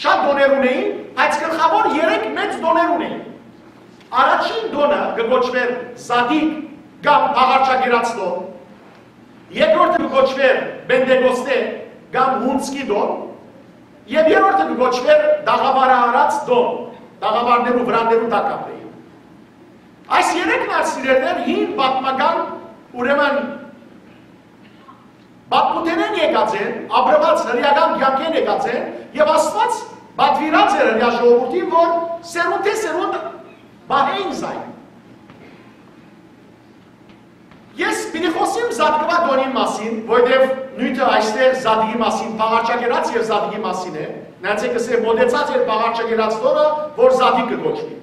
շատ տօներ ունէին, բայց գլխաւոր երեք մեծ տօներ ունէին։ Առաջին տօնը կը կոչուէր Զատիկ կամ Բաղարջակերաց տօն, երկրորդը կը կոչուէր Պենտեկոստէ կամ Հունձքի տօն, եւ երրորդը կը կոչուէր Տաղաւարարաց տօն, տաղաւարներու, վրաններու տակ ապրէին։ Այս երեքն ալ, սիրելիներ, հին պատմական, ուրեմն, պատմութենէն եկած են, ապրուած հրեական կեանքէն եկած են, եւ Աստուած պատուիրած էր հրեա ժողովուրդին, որ սերունդէ սերունդ պահէին զայն։ Ես պիտի խօսիմ Զատկուա տօնին մասին, որտեւ նիւթը այստեղ Զատիկի մասին, Բաղարջակերաց եւ Զատիկի մասին է, նայեցէք, կսե մօտեցած էր Բաղարջակերաց տօնը, որ Զատիկ կը կոչուի։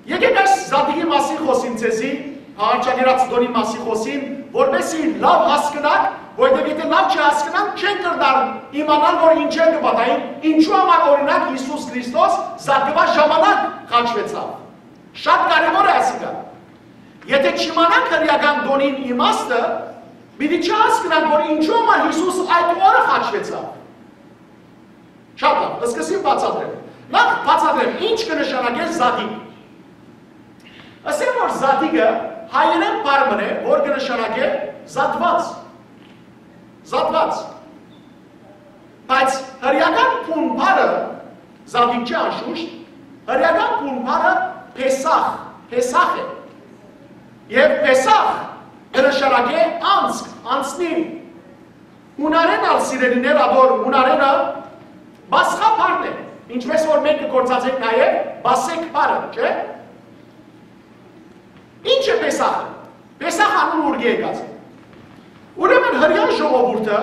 Եկէք այս Զատիկի մասին խօսիմ ձեզի, Բաղարջակերաց տօնի մասին խօսիմ, որպեսզի լաւ հասկնաք, որտեւ եթէ լաւ չհասկնանք, չենք կրնար իմանալ, որ ինչեր կը պատահին, ինչու համար, օրինակ, Յիսուս Քրիստոս Զատկուա ժամանակ խաչուեցաւ։ Շատ կարեւոր է ասիկա։ Եթէ չիմանանք հրեական տօնին իմաստը, պիտի չհասկնանք, որ ինչու համար Յիսուս այդ օրը խաչուեցաւ։ Շատ լաւ, սկսեմ բացատրել։ Նախ բացատրեմ, ինչ կը նշանակէ Զատիկ։ Ասեմ, որ Զատիկը հայերէն բառ մըն է, որ կը նշանակէ զատուած։ Զատուած։ Բայց հրեական բուն բառը, Զատիկ չէ անշուշտ, հրեական բուն բառը Փեսախ, Փեսախ է։ Եւ Փեսախ կը նշանակէ անցք, անցնիլ։ Յունարէն ալ, սիրելիներ, ատոր յունարէնը Պասխա բառն է, ինչպես որ մենք կը գործածենք նաեւ Պասեկ բառը, չէ՞։ Ինչ է Պեսախը։ Պեսախ անունը ուրկէ եկած է։ Ուրեմն հրեան ժողովուրդը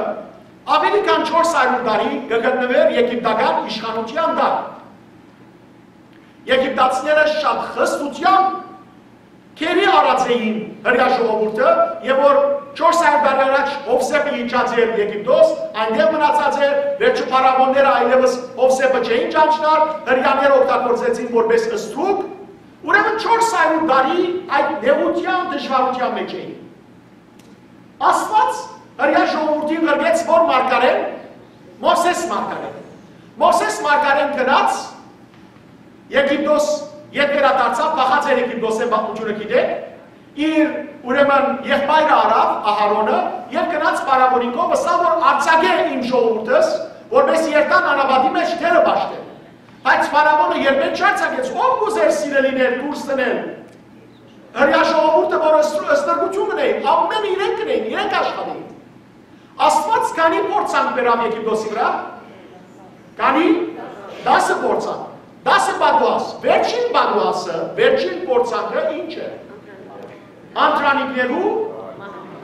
աւելի քան չորս հարիւր տարի կը գտնուէր եգիպտական իշխանութեան տակ։ Եգիպտացիները շատ խստութեամբ գերի առած էին հրեա ժողովուրդը, եւ որ չորս հարիւր տարի առաջ Յովսէփը իջած էր Եգիպտոս, այնտեղ մնացած էր, վերջը փարաւոնները այլեւս Յովսէփը չէին ճանչնար, հրեաները օգտագործեցին որպես ստրուկ, ուրեմն չորս հարիւր տարի այդ նեղութեան, դժուարութեան մէջ էին։ Աստուած հրեա ժողովուրդին ղրկեց որ մարգարէն, Մովսէս մարգարէն։ Մովսէս մարգարէն գնաց Եգիպտոս, ետ վերադարձաւ, փախած էր Եգիպտոսէն, պատմութիւնը գիտէք, իր, ուրեմն, եղբայրը առաւ, Ահարոնը, եւ գնաց փարաւոնին կողմ, ըսաւ որ արձակէ իմ ժողովուրդս, որպէս երթան անապատի մէջ թերը պաշտեն։ Բայց փարաւոնը երբեք չարձակեց, ով կ'ուզէր, սիրելիներ, դուրս դնել հրեա ժողովուրդը, որ ըստ-, ըստրկութիւն կ'ընէին, ամէնը իրենք կ'ընէին, իրենք աշխատէին։ Աստուած քանի փորձանք բերաւ Եգիպտոսի վրայ, քանի, դասը փորձանք, դասը պատուաս, վերջին պատուասը, վերջին փորձանքը ինչ է։ Անդրանիկներու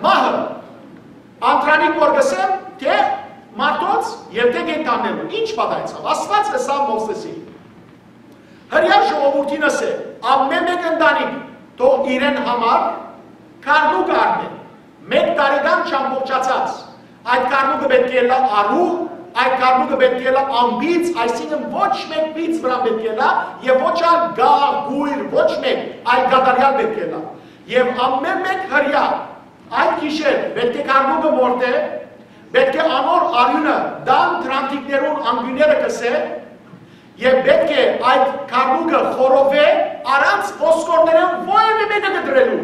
մահը։ Անդրանիկ որ կ'ըսեմ, թէ մարդոց եւ թէ կենդաններու։ Ինչ պատահեցաւ։ Աստուած ըսաւ Մովսէսին. հրեա ժողովուրդին ըսէ, ամէն մէկ ընտանիք թող իրեն համար գառնուկ առնէ, մէկ տարեկան չամբողջացած։ Այդ գառնուկը պէտք է ըլլայ առու, այդ գառնուկը պէտք է ըլլայ անբիծ, այսինքն ոչ մէկ բիծ վրան պէտք է ըլլայ, եւ ոչ ալ գաղ, գոյր, ոչ մէկ, այլ կատարեալ պէտք է ըլլայ։ Եւ ամէն մէկ հրեա այդ գիշեր պէտք է գառնուկը մորթէ, պէտք է անոր արիւնը տան դրանտիկներուն անկիւնները կսէ, եւ պէտք է այդ գառնուկը խորովէ առանց ոսկորներէն որեւէ մէկը կտրելու։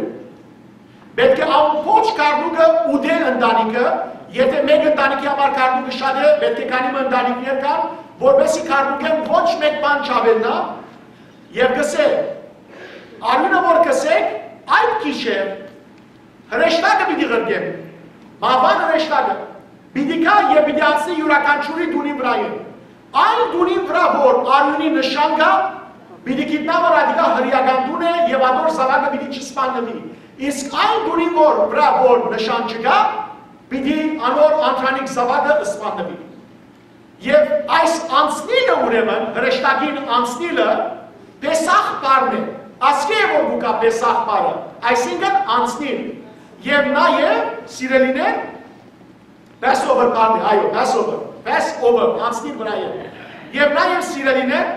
Պէտք է ամբողջ գառնուկը ուտէ ընտանիքը, եթէ մէկ ընտանիքի համար գառնուկը շատ է, պէտք է քանի մը ընտանիքներ կան, որպեսզի գառնուկէն ոչ մէկ բան չաւելնայ, եւ կսէ, արիւնը որ կսէք, այդ գիշեր հրեշտակը պիտի ղրկեմ, մահուան հրեշտակը, պիտի գայ եւ պիտի անցնի իւրաքանչիւրի տունին վրայէն։ Այն տունին վրայ որ արիւնի նշան կայ, պիտի գիտնայ որ ատիկա հրեական տուն է եւ ատոր զաւակը պիտի չսպաննուի։ Իսկ այն տունին որ վրայ որ նշան չկայ, պիտի անոր անդրանիկ զաւակը սպաննուի։ Եւ այս անցնիլը, ուրեմն, հրեշտակին անցնիլը Պեսախ բառն է։ Ասկէ է որ կու գայ Պեսախ բառը, այսինքն անցնիլ։ Եւ նաեւ, սիրելիներ, Passover բառն է, այո, Passover, Passover, անցնիլ վրայէն։ Եւ նաեւ, սիրելիներ,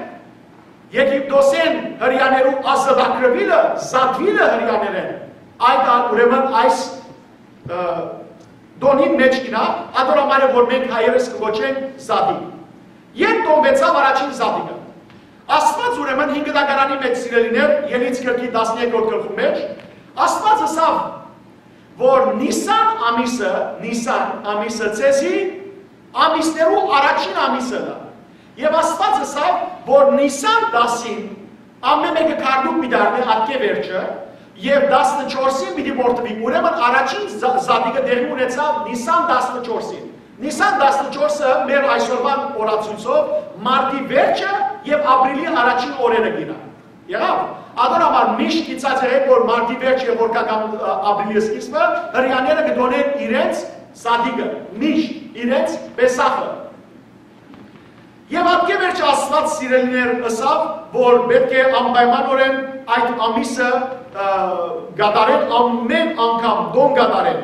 Եգիպտոսէն հրեաներու ազատագրուիլը, զատուիլը հրեաներէն, այդ ալ ուրեմն այս, ը, տօնին մէջ կ'նայ, ատոր համար է որ մենք հայերս կը կոչենք Զատիկ։ Երբ տոնուեցաւ առաջին Զատիկը, Աստուած ուրեմն հինգ դագարանի մէջ, սիրելիներ, Ելից գրքի տասներկրորդ գլխու մէջ, Աստուած ըսաւ, որ Նիսան ամիսը, Նիսան ամիսը ձեզի ամիսներու առաջին ամիսը ըլլայ։ Եւ Աստուած ըսաւ, որ Նիսան տասին ամէն մէկը քառնուկ պիտի առնէ ատկէ վերջը, եւ տասնչորսին պիտի որդուի։ Ուրեմն առաջին Զա-, Զատիկը տեղի ունեցաւ Նիսան տասնչորսին։ Նիսան տասնչորսը մեր այսօրվան օրացոյցով մարտի վերջը եւ ապրիլի առաջին օրերը կ'նայ։ Եղաւ։ Ատոր համար միշտ գիտցած եղեք, որ մարտի վերջ եւ որ կական, ը, ապրիլի սկիզբը հրեաները կը տօնեն իրենց Զատիկը, միշտ իրենց Պեսախը։ Եւ ատկէ վերջ Աստուած, սիրելիներ, ըսաւ, որ պէտք է անպայմանօրէն այդ ամիսը, ը, կատարեն, ամէն անգամ տոն կատարեն։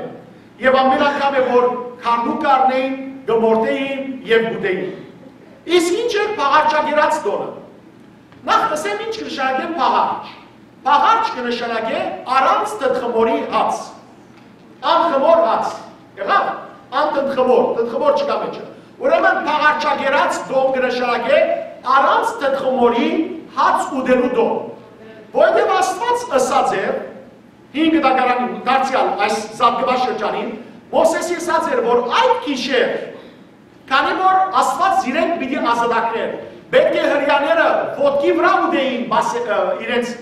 Եւ ամէն անգամ է որ քառնուկ կ'առնէին, կը մորթէին եւ կ'ուտէին։ Իսկ ինչ էր փաղարչակերաց տօնը։ Նախ ըսեմ, ինչ կը նշանակէ փաղարչ։ Փաղարչ կը նշանակէ առանց թթխմորի հաց։ Անխմոր հաց։ Եղաւ, անթթխմոր, թթխմոր չկայ մէջը։ Ուրեմն փաղարչակերաց տոն կը նշանակէ առանց թթխմորի հաց ուտելու տոն։ Որովհետեւ Աստուած ըսած էր, հինգ դագարանի դարձեալ այս Զատկուայ շրջանին, Մովսէսի ըսած էր, որ այդ գիշեր Քանի որ Աստուած զիրենք պիտի ազատագրէր, պէտք է հրեաները ոտքի վրայ ուտէին բաս-, ը, իրենց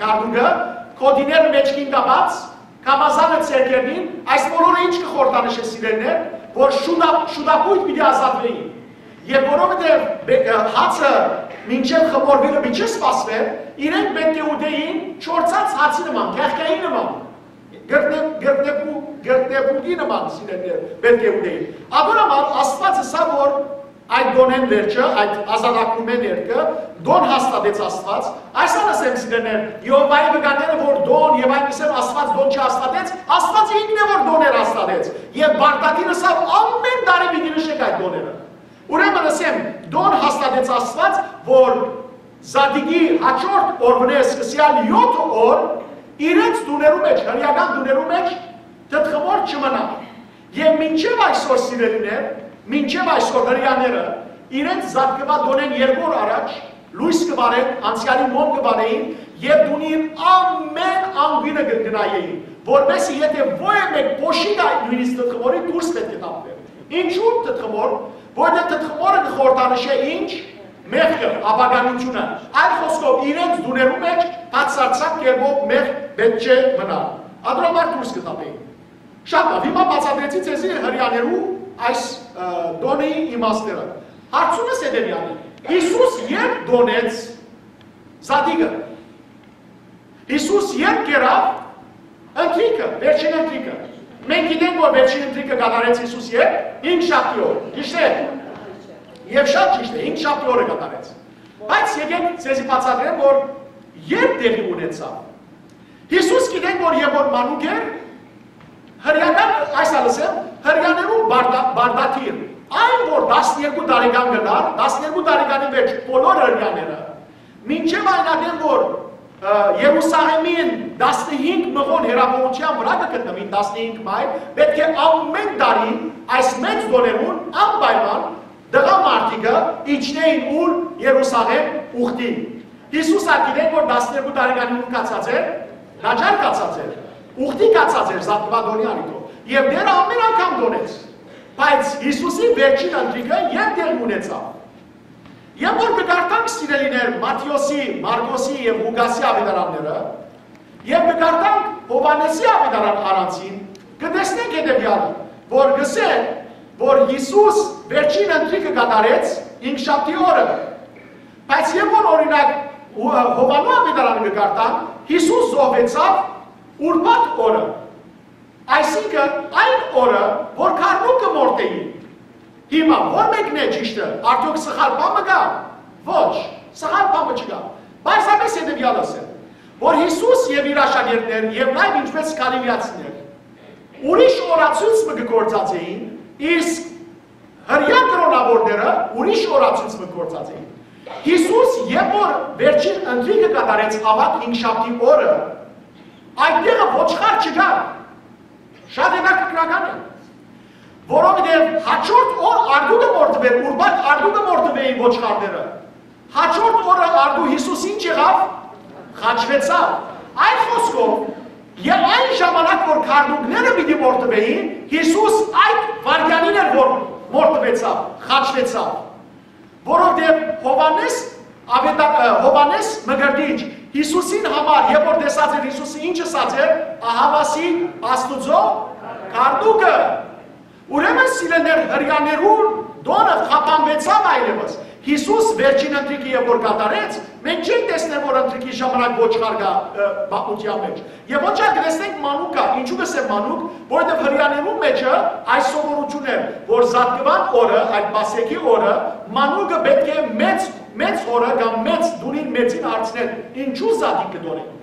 քառնուկը, գօտիները մէջքին կապած, կամազանը ձեռքերնին, այս բոլորը ինչ կը խորհրդանշէ, սիրելիներ, որ շուտա-, շուտապույտ պիտի ազատուէին։ Եւ որովհետեւ բե-, ը, հացը մինչեւ խմորուիլը պիտի սպասուէր, իրենք պէտք է ուտէին չորցած հացի նման, կեղկայի նման։ Գրտնե-, գրտնեփու-, գրտնեփուկի նման, սիրելիներ, պէտք է ուտէին։ Ատոր համար Աստուած ըսաւ, որ այդ տօնէն վերջը, այդ ազատագրումէն երկը, տօն հաստատեց Աստուած։ Այսան ըսեմ, սիրելիներ, Եհովայի վկաները, որ տօն, եւ այնպիսին Աստուած տօն չհաստատեց, Աստուած ինքն է, որ տօներ հաստատեց։ Եւ պարտադիր ըսաւ, ամէն տարի պիտի նշեք այդ տօները։ Ուրեմն ըսեմ, տօն հաստատեց Աստուած, որ Զատիկի հաջորդ օրուընէ սկսեալ յոթ օր իրենց տուներու մէջ, հրեական տուներու մէջ թթխմոր չմնայ։ Եւ մինչեւ այսօր, սիրելիներ, մինչեւ այսօր հրեաները իրենց Զատկուայ տօնէն երկու օր առաջ լոյս կը վառեն, անցեալի մոմ կը վառէին եւ տունին ամէն անկիւնը կը գնայէին, որպեսզի եթե ոյ մէկ փոշիկը նոյնիսկ թթխմորի դուրս պէտք է թափուէր։ Ինչու թթխմոր, որտեղ թթխմորը կը խորհրդանշէ ինչ, մեղքը, ապականիությունը, այլ խոսքով իրենց տուներու մէջ բացարձակ կերպով մեղք պէտք չէ մնար։ Ատոր համար դուրս կը թափէին։ Շատ լաւ, հիմա բացատրեցի ձեզի հրեաներու այս, ը, տօնի իմաստները։ Հարցումս հետեւեալն է. Յիսուս երբ տօնեց Զատիկը, Յիսուս երբ կերաւ ընթրիքը, վերջին ընթրիքը։ Մենք գիտենք, որ վերջին ընթրիքը կատարեց Յիսուս երբ, հինգշաբթի օր, ճիշտ է։ Եւ շատ ճիշտ է, հինգշաբթի օրը կատարեց։ Բայց եկեք ձեզի բացատրեմ, որ երբ տեղի ունեցաւ։ Յիսուս գիտենք, որ երբ որ մանուկ էր, հրեական, այս ալ ըսեմ, հրեաներու բարդա-, բարդաթիռ, այն որ տասներկու տարեկան կդար, տասներկու տարեկանի վեճ բոլոր հրեաները, մինչեւ այն ատեն որ, ը, Երուսաղեմին տասնհինգ մղոն հեռավորության վրա կը գտնուին, տասնհինգ մայլ, պէտք է ամէն տարի այս մեծ տօներուն անպայման տղամարդիկը իջնէին ուր, Երուսաղեմ ուխտի։ Յիսուս ալ գիտենք, որ տասներկու տարեկանին կացած էր, տաճար կացած էր, ուխտի կացած էր Զատկուայ տօնի առիթով։ Եւ Տերը ամէն անգամ տօնեց։ Բայց Յիսուսի վերջին ընթրիքը երբ տեղի ունեցաւ։ Եւ որ կկարդանք, սիրելիներ, Մատթէոսի, Մարկոսի եւ Ղուկասի աւետարանները, եւ կկարդանք Յովհաննէսի աւետարան առանցին, կտեսնենք հետեւեալը, որ կսէ, որ Յիսուս վերջին ընթրիքը կատարեց հինգշաբթի օրը, բայց երբ որ, օրինակ, Յո-, Յովհաննու աւետարանը կկարդանք, Յիսուս զոհվեցաւ ուրբաթ օրը, այսինքն այն օրը, որ քառնուկը մորթէին։ Հիմա, ո՞ր մեկն է ճիշդը, արդեօք սխալ բան մը կա։ Ոչ, սխալ բան մը չկայ։ Պարզապէս հետեւեալս է, որ Յիսուս եւ իր աշակերտներ, եւ նաեւ ինչպէս գալիլեացիներ, ուրիշ օրացոյց մը կը գործածէին, իսկ հրեայ կրօնաւորները ուրիշ օրացոյց մը կը գործածէին։ Յիսուս, երբ որ վերջին ընթրիքը կատարեց, աւագ հինգշաբթի օրը, այդ տեղը ոչխար չկար։ Շատ հետաքրքրական է, որովհետեւ հաջորդ օր արդու կը մորթուէր, ուրբաթ արդու կը մորթուէին ոչխարները։ Հաջորդ օրը արդու Յիսուս ինչ եղաւ։ Խաչուեցաւ։ Այլ խօսքով, եւ այն ժամանակ որ քարտուղները պիտի մորթուէին, Յիսուս այդ վայրկեանին էր որ մորթուեցաւ, խաչուեցաւ, որովհետեւ Յովհաննէս, Ավետա- Յովհաննէս Մկրտիչ Յիսուսին համար, երբ որ տեսած էր Յիսուսը ինչ ըսած էր, ահաւասիկ Աստուծոյ քարտուղը։ Ուրեմն, սիրելիներ, Հրեաներուն տօնը խափանուեցաւ այլեւս։ Յիսուս վերջին ընթրիքը երբ որ կատարեց, մենք չենք տեսներ որ ընթրիքի ժամանակ ոչխար կայ պատմութեան մէջ։ Եւ ոչ ալ կտեսնենք մանուկ կայ։ Ինչու կ'ըսեմ մանուկ, որովհետեւ Հրեաներուն մէջը այս սովորութիւնն էր, որ Զատկուան օրը, այդ Պասեքի օրը, մանուկը պէտք է մեծ, մեծ հօրը կամ մեծ տունին մեծին հարցնել, ինչու զատիկ կը տօնեն։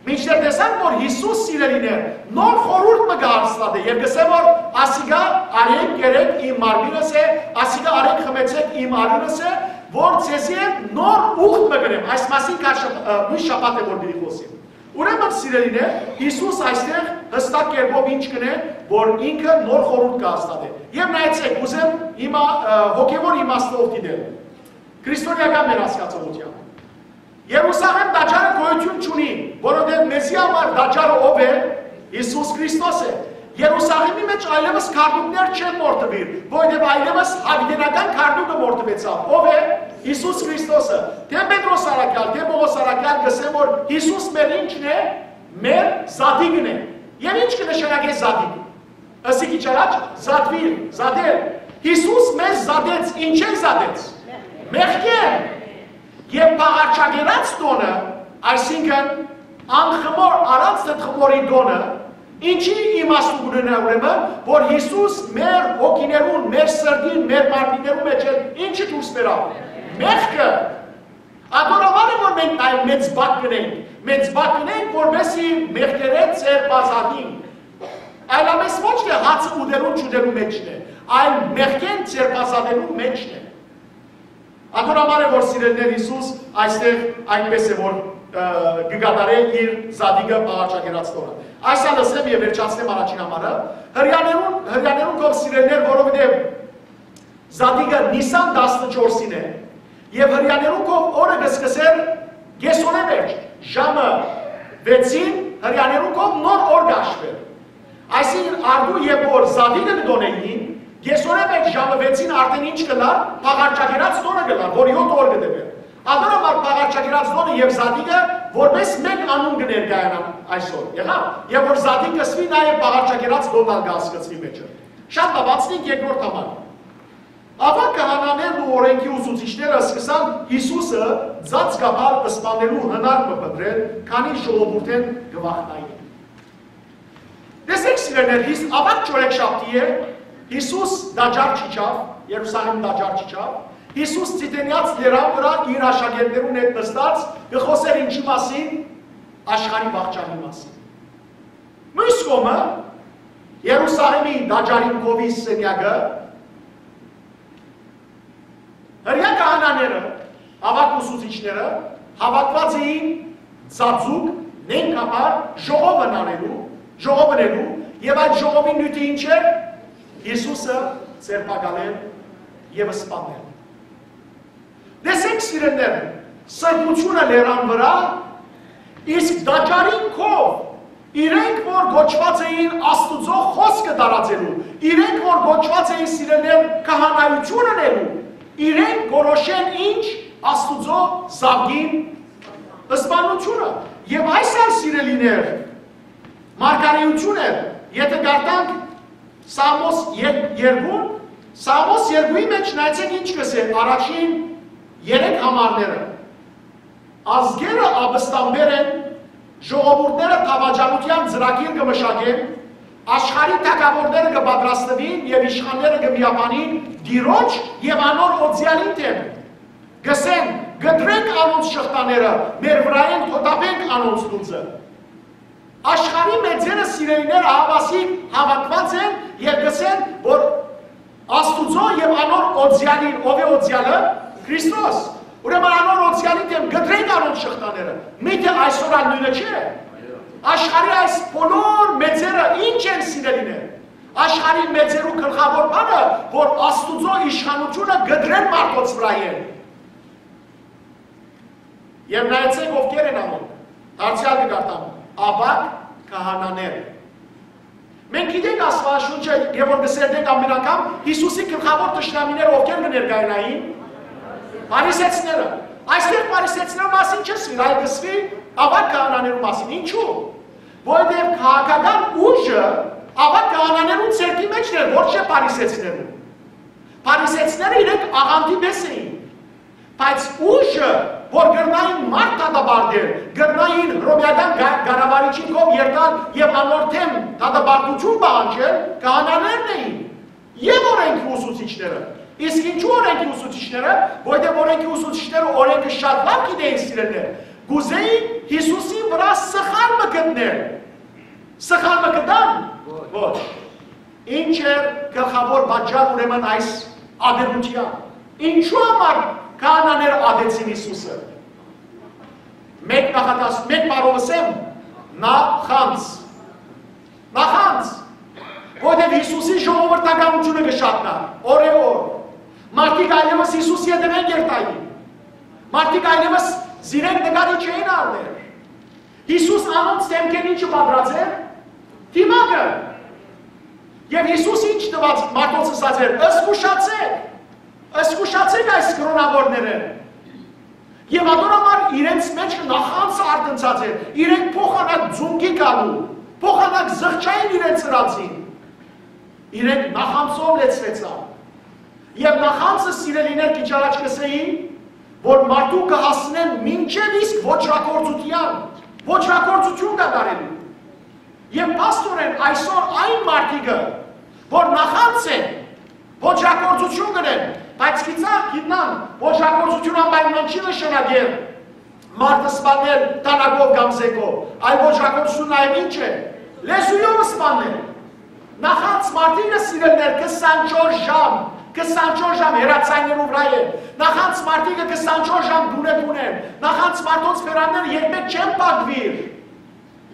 Մինչդեռ տեսանք որ Յիսուս, սիրելիներ, նոր խորհուրդ մը կը հաստատէ եւ կ'ըսէ որ ասիկա արէք կերէք իմ մարմինս է, ասիկա արէք խմեցէք իմ արիւնս է, որ ձեզի հետ նոր ուխտ մը կ'ընեմ։ Այս մասին քարշ միշտ շաբաթ է որ պիտի խօսիմ։ Ուրեմն, սիրելիներ, Յիսուս այստեղ յստակ կերպով ինչ կ'ընէ, որ ինքը նոր խորհուրդ կը հաստատէ։ Եւ նայեցէք, ուզեմ հիմա հոգեւոր իմաստով դիտել քրիստոնեական մեր հասկացողութեան։ Երուսաղեմ տաճարը գոյութիւն չունի, որովհետեւ մեզի համար տաճարը ով է։ Յիսուս Քրիստոս է։ Երուսաղեմի մէջ այլեւս քարտուղներ չեն մորթուիր, որովհետեւ այլեւս յաւիտենական քարտուղը մորթուեցաւ, ով է։ Յիսուս Քրիստոսը։ Թէ Պետրոս առաքեալ, թէ Պողոս առաքեալ կ'ըսեն որ Յիսուս մեր ի՞նչն է։ Մեր զատիկն է։ Եւ ի՞նչ կը նշանակէ զատիկ։ Ըսի քիչ առաջ, զատուիլ, զատել։ Յիսուս մեզ զատեց, ինչե՞ն զատեց։ Մեղքէն։ Եւ փաղարչագերած տօնը, այսինքն՝ անխմոր առանց թթխմորի տօնը, ինչի՞ իմաստը կ'ունենայ ուրեմն, որ Յիսուս մեր հոգիներուն, մեր սրտին, մեր մարմիններուն մէջ է, ի՞նչը դուրս բերաւ։ Մեղքը։ Ատոր համար է որ մենք նայ մեծ բակ կ'ընենք, մեծ բակ կ'ընենք, որպեսզի մեղքերէն ձերբազատինք։ Այլապես ոչ թէ հացը ուտելուն չուտելուն մէջն է, այլ մեղքէն ձերբազատելուն մէջն է։ Ատոր համար է որ, սիրելիներ, Յիսուս այստեղ այնպես է որ կը կատարէ իր զատիկը փաղարչագերած տօնը։ Այս ալ ըսեմ եւ վերջացնեմ առաջին համարը։ Հրեաներուն, հրեաներուն քով, սիրելիներ, որովհետեւ զատիկը Նիսան տասնչորսին է, եւ հրեաներուն քով օրը կը սկսէր կեսօրէ մէջ, ժամը վեցին հրեաներուն քով նոր օր կ'հաշուէր։ Այսինքն՝ արդու երբ որ զատիկը կը տօնէին, կեսօրէ մէջ ժամը վեցին արդէն ինչ կ'ըլլար, փաղարչագերած տօնը կ'ըլլար, որ յոթ օր կը տեւէր։ Ատոր համար փաղարչագերած տօնը եւ զատիկը որպես մէկ անուն կը ներկայանան այսօր։ Եղա՞վ, եւ որ զատիկ կ'ըսուի, նաեւ փաղարչագերած տօնն ալ կը հասկցուի մէջը։ Շատ լաւացնենք երկրորդ համար։ Աւագ քահանաներն ու օրէնքի ուսուցիչները սկսան Յիսուսը ծածկաբար սպանելու հնարքը փնտռել, քանի ժողովուրդէն կը վախնային։ Տեսեք, սիրելիներ, Յիս-, աւագ չորեքշաբթի է, Յիսուս տաճար չիջաւ, Երուսաղեմ տաճար չիջաւ, Յիսուս Ծիտենեաց լերան վրայ իր աշակերտներուն հետ նստած կը խօսէր ինչի՞ մասին, աշխարհի վախճանի մասին։ Մյուս կողմը, Երուսաղեմի տաճարին քովի սենեակը, հրեա քահանաները, աւագ ուսուցիչները, հաւաքուած էին ծածուկ, նենգաբար ժողովն անելու, ժողովն ելու, եւ այդ ժողովին նիւթը ի՞նչ էր։ Յիսուսը ձերբակալել եւ սպանել։ Տեսեք, սիրելիներ, սրբութիւնը լերան վրայ, իսկ տաճարին քով, իրենք որ կոչուած էին Աստուծոյ խօսքը տարածելու, իրենք որ կոչուած էին, սիրելիներ, քահանայութիւն ընելու, իրենք կորոշեն ինչ, Աստուծոյ զաւկին սպանութիւնը։ Եւ այս ալ, սիրելիներ, մարգարէութիւն էր, եթէ կարդանք Սաղմոս եր-, երկուն, Սաղմոս երկուի մէջ նայեցեք ինչ կ'ըսէ առաջին երեք համարները։ Ազգերը ապստամբեր են, ժողովուրդները դաւաճանութեան ծրագիր կը մշակեն, աշխարհի թագաւորները կը պատրաստուին եւ իշխանները կը միաբանին Տիրոջ եւ անոր օծեալին դէմ։ Կ'ըսեն. «Կտրենք անոնց շղթաները, մեր վրայէն թոթափենք անոնց լուծը»։ Աշխարհի մեծերը, սիրելիներ, ահաւասիկ հաւաքուած են եւ կ'ըսեն, որ Աստուծոյ եւ անոր օծեալին, ով է օծեալը, Քրիստոս։ Ուրեմն անոր օծեալի դէմ կտրենք անոնց շղթաները։ Միթէ այսօր ալ նոյնը չէ։ Աշխարհի այս բոլոր մեծերը ի՞նչ են, սիրելիներ։ Աշխարհի մեծերու գլխաւոր բանը, որ Աստուծոյ իշխանութիւնը կտրեն մարդոց վրայ են։ Եւ նայեցէք, ովքեր են անոնք։ Դարձեալ կը կարդամ. Աւագ քահանաներ։ Մենք գիտենք Աստուածաշունչը, եւ որ կը սերտենք ամեն անգամ, Յիսուսի գլխաւոր թշնամիները ովքեր կը ներկայանային։ Փարիսեցիները։ Այստեղ փարիսեցիներու մասին չի ըսուիր, այլ կը ըսուի աւագ քահանաներու մասին։ Ինչու՞։ Որովհետեւ քաղաքական ուժը աւագ քահանաներուն ձեռքի մէջ էր, ոչ թե փարիսեցիներուն։ Փարիսեցիները իրենք աղանդի պէս էին, բայց ուժը, որ կրնային մարդ դատապարտել, կրնային հռոմեական գա-, կառավարիչին քով երթալ եւ անոր դէմ դատապարտութիւն պահանջել, քահանաներն էին եւ օրէնքի ուսուցիչները։ Իսկ ինչու՞ օրէնքի ուսուցիչները, որովհետեւ օրէնքի ուսուցիչները օրէնքը շատ լաւ գիտէին, սիրելիներ, կ'ուզէին Յիսուսին վրայ սխալ մը գտնել։ Սխալ մը գտան։ Ոչ։ Ինչ էր գլխաւոր պատճառ ուրեմն այս ատելութեան։ Ինչու համար քահանաները ատեցին Յիսուսը։ Մէկ նախատաս-, մէկ բառով ըսեմ, նախանձ։ Նախանձ։ Որովհետեւ Յիսուսի ժողովրդականութիւնը կը շատնար օրէ օր։ Մարդիկ այլեւս Յիսուսի հետեւէն կ'երթային։ Մարդիկ այլեւս զիրենք նկարի չէին առներ։ Յիսուս անոնց դէմքէն ի՞նչը պատրած էր։ Դիմակը։ Եւ Յիսուս ի՞նչ տուած մարդոց ըսած էր. «Զգուշացէք, զգուշացէք այս կրօնաւորներէն»։ Եւ ատոր համար իրենց մէջ նախանձ արթնցած էր, իրենք փոխանակ ձունկի գալու, փոխանակ զղջային իրենց ըրածին։ Իրենք նախանձով լեցուեցան։ Եւ նախանձը, սիրելիներ, քիչ առաջ կ'ըսէի, որ մարդու կը հասնեն մինչեւ իսկ ոճրագործութեան, ոճրագործութիւն կատարելու։ Եւ փաստօրէն այսօր այն մարդիկը, որ նախանձ են, ոճրագործութիւն կ'ընեն, բայց գիտա-, գիտնան, ոճրագործութիւն անպայման չի նշանակեր մարդը սպանել դանակով կամ զէնկով, այլ ոճրագործութիւն նաեւ ինչ է, լեզուով սպանել։ Նախանձ մարդիկը, սիրելիներ, քսանչորս ժամ, քսանչորս ժամ հեռաձայներու վրայ է։ Նախանձ մարդիկը քսանչորս ժամ դունե դուն են։ Նախանձ մարդոց բերանները երբեք չեն փակուիր։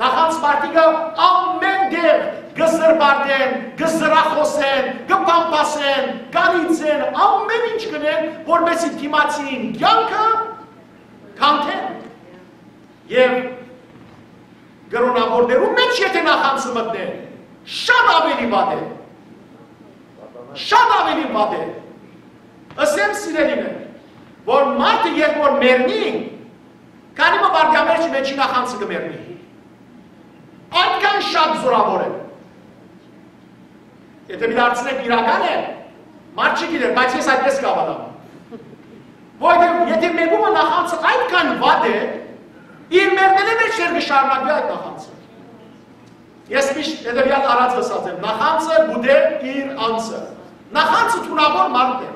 Նախանձ մարդիկը ամեն տեղ կը զրպարտեն, կը զրախոսեն, կը պամպասեն, կ'անիծեն, ամեն ինչ կ'ընեն, որպեսզի դիմացին կեանքը քանթեն։ Եւ կրօնաւորներու մէջ եթե նախանձը մտնէ, շատ աւելի վատ է։ Շատ աւելի վատ է։ Ըսեմ, սիրելիներ, որ մարդը երբ որ մեռնի, քանի մը վարկեան մէջ, մէջի նախանձը կը մեռնի։ Այդքան շատ զորաւոր է։ Եթե մի դարձնեք իրական է, մարդ չի գիտեր, բայց ես այդպես կհաւատամ։ Որովհետեւ եթե մեկումը նախանձը այդքան վատ է, իր մեռնելէ մէջտեղ կը շարունակի այդ նախանձը։ Ես միշտ հետեւեալ առած ըսած եմ. «Նախանձը կ'ուտէ իր անձը»։ Նախանձը թունաւոր մարդ է։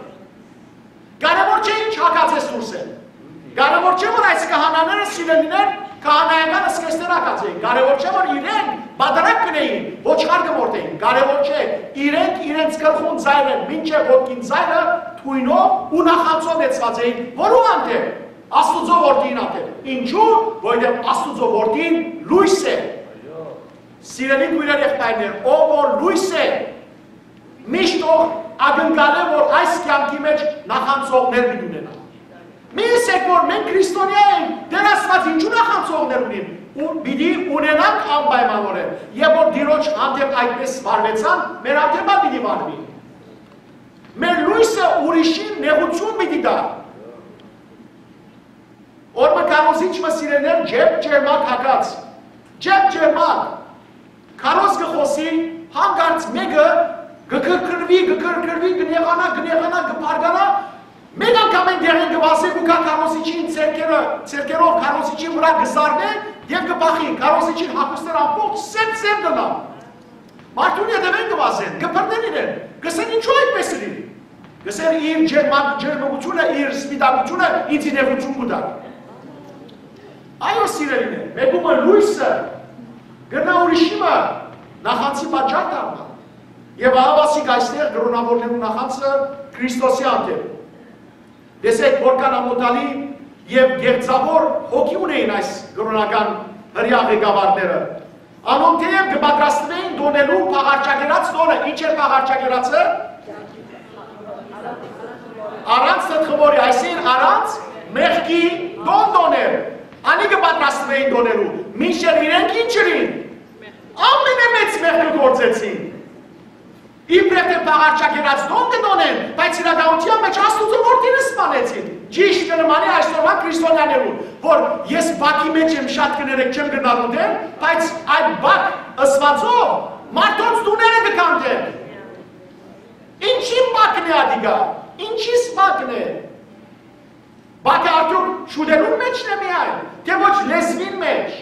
Կարեւոր չէ ինչ հագած ես դուրսէն։ Կարեւոր չէ որ այս քահանաները, սիրելիներ, քահանայական զգեստներ հագած էին։ Կարեւոր չէ որ իրենք պատարագ կ'ընէին, ոչխար կը մորթէին։ Կարեւոր չէ, իրենք իրենց գլխուն ծայրը մինչեւ ոտքին ծայրը թոյնով ու նախանձով լեցուած էին, որու հանդէպ, Աստուծոյ որդիին հանդէպ։ Ինչու՞, որովհետեւ Աստուծոյ որդին լոյս է։ Սիրելի քոյրեր, եղբայրներ, ով որ լոյս է, միշտ ով ակնկալէ որ այս կեանքի մէջ նախանձողներ պիտի ունենայ։ Մի ասեք որ մենք քրիստոնեայ ենք, Տէր Աստուած ինչու նախանձողներ ունին, ու պիտի ունենանք անպայմանորեն։ Եւ որ Տիրոջ հանդէպ այդպես վարուեցան, մեր հանդէպ ալ պիտի վարուի։ Մեր լոյսը ուրիշին նեղութիւն պիտի տայ։ Օր մը քարոզիչ մը, սիրելիներ, ջերմ ջերմակ հագած, ջերմ ջերմակ քարոզ կը խօսի, հանկարծ մէկը կը քրքրուի, կը քրքրուի, կը նեղանայ, կը նեղանայ, կը բարկանայ, մէկ անգամ այն դեղին կը վազէ ու գայ քարոզիչին ձեռքերը, ձեռքերով քարոզիչին վրայ կը զարնէ եւ կը բախի, քարոզիչին հագուստները ամբողջ սեփ-սեփ կ'ըլլան։ Մարդուն ետեւէն կը վազեն, կը բռնեն իրեն, կ'ըսեն. «Ինչո՞ւ այդպես ըլլի»։ Կ'ըսեն. «Իր ջերմակ-, ջերմուկութիւնը, իր սպիտակութիւնը ինձի նեղութիւն կու տայ»։ Այո, սիրելիներ, մէկումը լոյսը կրնայ ուրիշի մը նախանձի պատճառ դառնալ։ Եւ ահա ասիկ այստեղ կրօնաւորներու նախանձը Քրիստոսի հանդէպ։ Տեսեք, որքան ամօթալի Եւ կեղծաւոր հոգի ունէին այս կրօնական հրեայ ղեկավարները։ Անոնք թէեւ կը պատրաստուէին տօնելու փաղարչակերաց տօնը, ի՞նչ էր փաղարչակերացը։ Առանց թթխմորի, այսինքն՝ առանց մեղքի տօն տօնել։ Անիկը պատրաստուէին տօնելու, մինչդեռ իրենք ի՞նչ ըրին։ Ամենամեծ մեղքը գործեցին։ Իբրեւ թէ փաղարչակերաց տօն կը տօնեն, բայց իրականութեան մէջ Աստուծոյ որդին սպանեցին։ Ճիշդ կը նմանի այսօրվա քրիստոնեաներուն, որ ես բակի մէջ եմ, շատ կներեք, չեմ գնար ուտել, բայց այդ բակ ըսուածով մարդոց տուները կը քանդեն։ Ինչի՞ բակն է ատիկա, ինչի՞ բակն է։ Բակը արդյոք շուտերուն մէջն է միայն, թէ ոչ լեզուին մէջ,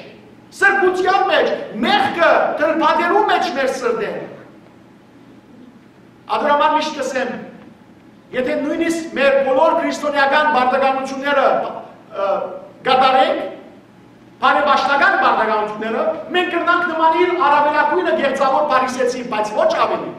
սրբութեան մէջ, մեղքը, թլփատերուն մէջ մեր սրտէն։ Ատոր համար միշտ կ'ըսեմ, եթե նոյնիսկ մեր բոլոր քրիստոնեական պարտականութիւնները, ը, կատարենք, բարեպաշտական պարտականութիւնները, մենք կրնանք նմանիլ առաւելագոյնը կեղծաւոր փարիսեցի, բայց ոչ աւելի։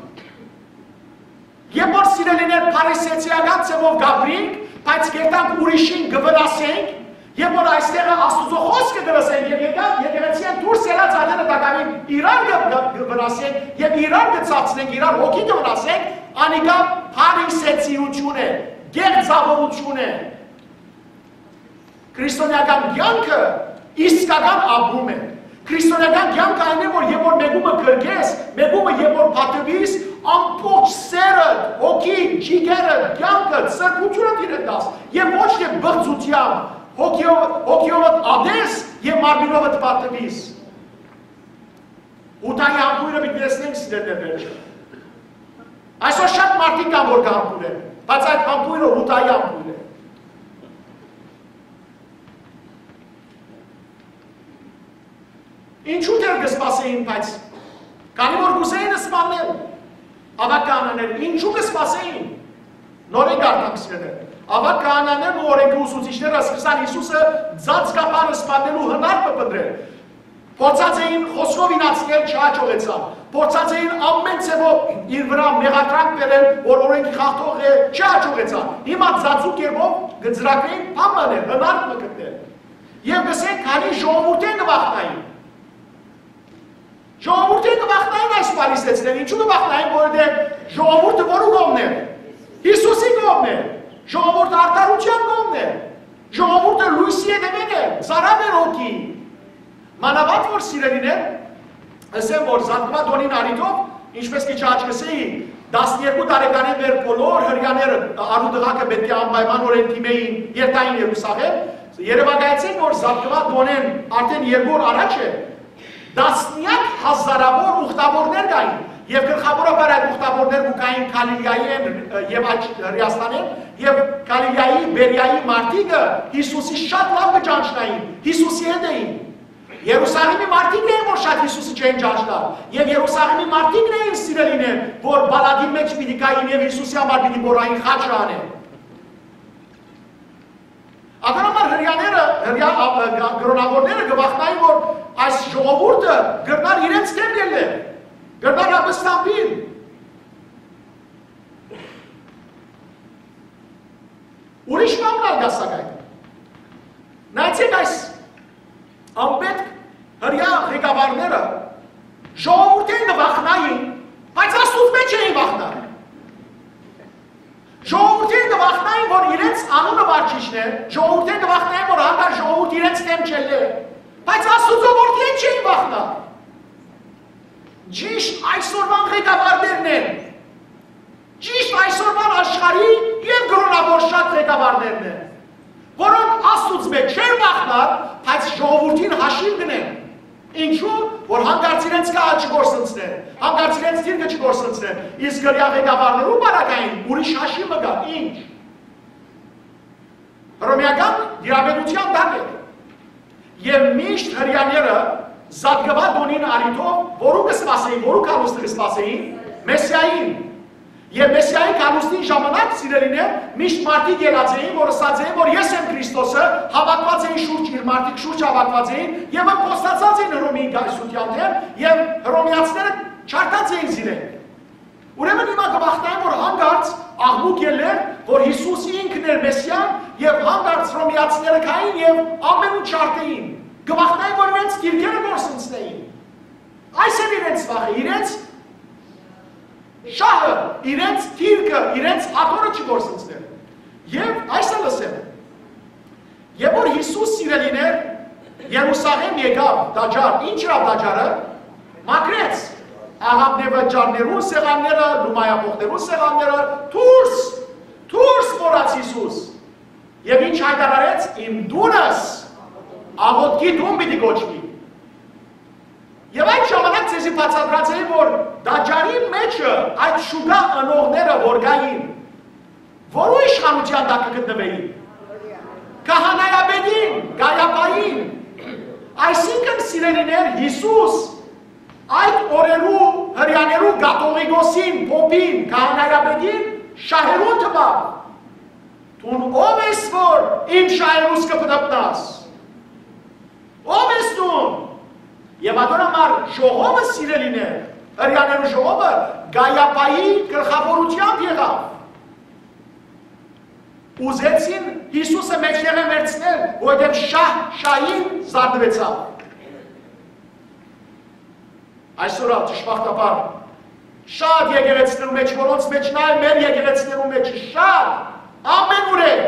Երբ որ, սիրելիներ, փարիսեցիական ձևով կ'ապրինք, բայց կերտանք ուրիշին կը վնասենք, երբ որ այստեղը Աստուծոյ խօսքը կը լսենք եւ եկան եկեղեցիէն դուրս ելած ատենը տակաւին իրար կը, կը, կը վնասենք եւ իրար կը ցածնենք, իրար հոգի կը վնասենք, անիկա փարիսեցիութիւն է, կեղծաւորութիւն է։ Քրիստոնեական կեանքը իսկական ապրում է։ Քրիստոնեական կեանքը այն է, որ երբ որ մեկումը գրկես, մեկումը երբ որ պատուիս, ամբողջ սերը, հոգի, ճիգերը, կեանքը, սրբությունը դիրը տաս, եւ ոչ թե բղծությամբ, հոգիով, հոգիովդ ատես եւ մարմինովդ պատուիս։ Յուդայի համբոյրը պիտի տեսնենք, սիրելիներ, վերջը։ Այսօր շատ մարդիկ կան, որ կհամբուրեն, բայց այդ համբոյրը Յուդայի համբոյր է։ Ինչու դեռ կը սպասեին, բայց քանի որ կ'ուզեին սպաննել, ավագ քահանաները, ինչու կը սպասեին։ Նորէն կարդամ, սիրելիներ։ Ավագ քահանաներն ու օրէնքի ուսուցիչները սկսան Յիսուսը ծածկաբար սպաննելու հնարքը փնտռել։ Փորձած էին խօսքով իրացնել, չհաջողեցան։ Փորձած էին ամեն ձևով իր վրայ մեղադրանք բերել, որ օրէնքի խախտող է, չհաջողեցան։ Հիմա ծածուկ կերպով կը ծրագրեն բան բանել, հնարք մը գտնել։ Եւ կ'ըսեն, քանի ժողովուրդէն կը վախնային։ Ժողովուրդէն կը վախնային այս փարիսեցիները, ինչու կը վախնային, որովհետեւ ժողովուրդը որու կողմն է։ Յիսուսի կողմն է։ Ժողովուրդը արդարութեան կողմն է։ Ժողովուրդը լոյսի հետեւէն է, ծարաւ էր հոգի։ Մանաւանդ որ, սիրելիներ, ըսեմ, որ Զատկուա տօնին առիթով, ինչպես քիչ առաջ կ'ըսէի, տասներկու տարեկանէն վեր բոլոր հրեաները, առու տղաքը պէտք է անպայմանօրէն դիմէին, երթային Երուսաղէմ։ Երեւակայեցէք, որ Զատկուա տօնէն արդէն երկու օր առաջ է, տասնեակ հազարաւոր ուխտաւորներ կային, եւ գլխաւորաբար այդ ուխտաւորներ կու գային Գալիլիայէն, ը, եւ այդ Հրեաստանէն, եւ Գալիլիայի, Բերիայի մարդիկը Յիսուսի շատ լաւ կը ճանչնային, Յիսուսի հետ էին։ Երուսաղէմի մարդիկ էին, որ շատ Յիսուսը չեն ճանչնար, եւ Երուսաղէմի մարդիկն էին, սիրելիներ, որ պալատին մէջ պիտի գային եւ Յիսուսի համար պիտի մոռային խաչը անեն։ Ատոր համար հրեաները, հրեա, ա, ա, կրօնաւորները կը վախնային, որ այս ժողովուրդը կրնար իրենց դէմ ելլել, կրնար ապստամբիլ։ Ուրիշ բան ալ կայ, սակայն։ Նայեցեք այս անպետք հրեայ ղեկավարները, ժողովուրդէն կը վախնային, բայց Աստուծմէ չէին վախնար։ Ժողովուրդէն կը վախնային, որ իրենց անունը վարչիչն է, ժողովուրդէն կը վախնային, որ հանկարծ ժողովուրդ իրենց դէմ չելլէ, բայց Աստուծոյ որդիէն չէին վախնար։ Ճիշտ այսօրվան ղեկավարներն են, ճիշտ այսօրվան աշխարհի եւ կրօնաւոր շատ ղեկավարներն են, որոնք Աստուծմէ չեն վախնար, բայց ժողովուրդին հաշիւ կ'ընեն։ Ինչու՞, որ հանկարծ իրենց գահը չկորսնցնեն, հանկարծ իրենց դիրքը չկորսնցնեն, իսկ հրեայ ղեկավարներու պարագային ուրիշ հաշիւ մը կայ, ինչ։ Հռոմէական դիւանագիտութեան տակ է։ Եւ միշտ հրեաները Զատկուա տօնին առիթով որո՞ւ կը սպասէին, որո՞ւ գալուստը կը սպասէին, Մեսիային։ Եւ Մեսիայի գալուստին ժամանակ, սիրելիներ, միշտ մարդիկ ելած էին, որ ըսած էին, որ ես եմ Քրիստոսը, հաւաքուած էին շուրջ իր մարդիկ, շուրջ հաւաքուած էին եւ ըմբոստացած էին Հռոմի կայսրութեան դէմ, եւ հռոմեացիները չարդած էին զիրենք։ Ուրեմն հիմա կը վախնային, որ հանկարծ աղմուկ ելլեր, որ Յիսուս ինքն էր Մեսիան, Եւ հանկարծ Հռոմեացիները գային եւ ամենուն ջարդէին։ Կը վախնային, որ իրենց դիրքերը կորսնցնէին։ Այս էր իրենց վախը, իրենց շահը, իրենց դիրքը, իրենց աթոռը չկորսնցներ։ Եւ այս ալ ըսեմ, երբ որ Յիսուս, սիրելիներ, Երուսաղէմ եկաւ տաճար, ինչ ըրաւ տաճարը, մաքրեց աղաւնեվճարներուն սեղանները, լումայաբոխներուն սեղանները, դուրս, դուրս մորաց Յիսուս։ Եւ ինչ հայտարարեց, իմ տունս աղօթքի տուն պիտի կոչուի։ Եւ այդ ժամանակ ձեզի բացատրած էի, որ տաճարի մէջը այդ շուկայ ընողները որ կային, որու իշխանութեան տակ կը գտնուէին, քահանայապետին, Կայապային։ Այսինքն, սիրելիներ, Յիսուս այդ օրերու հրեաներու կաթողիկոսին, փոփին, քահանայապետին շահերուն տուաւ։ Դուն ո՞վ ես, որ իմ շահերուս կը պտտնաս։ Ո՞վ ես դուն։ Եւ ատոր համար ժողովը, սիրելիներ, հրեաներու ժողովը Կայապայի գլխաւորութեամբ եղաւ։ Ուզեցին Յիսուսը մէջտեղէ վերցնել, որովհետեւ շահ շահին զարթուեցաւ։ Այսօր ալ, ճշմարտաբար, շատ եկեղեցիներու մէջ, որոնց մէջ նայ, մեր եկեղեցիներու մէջ շատ, ամենուրեք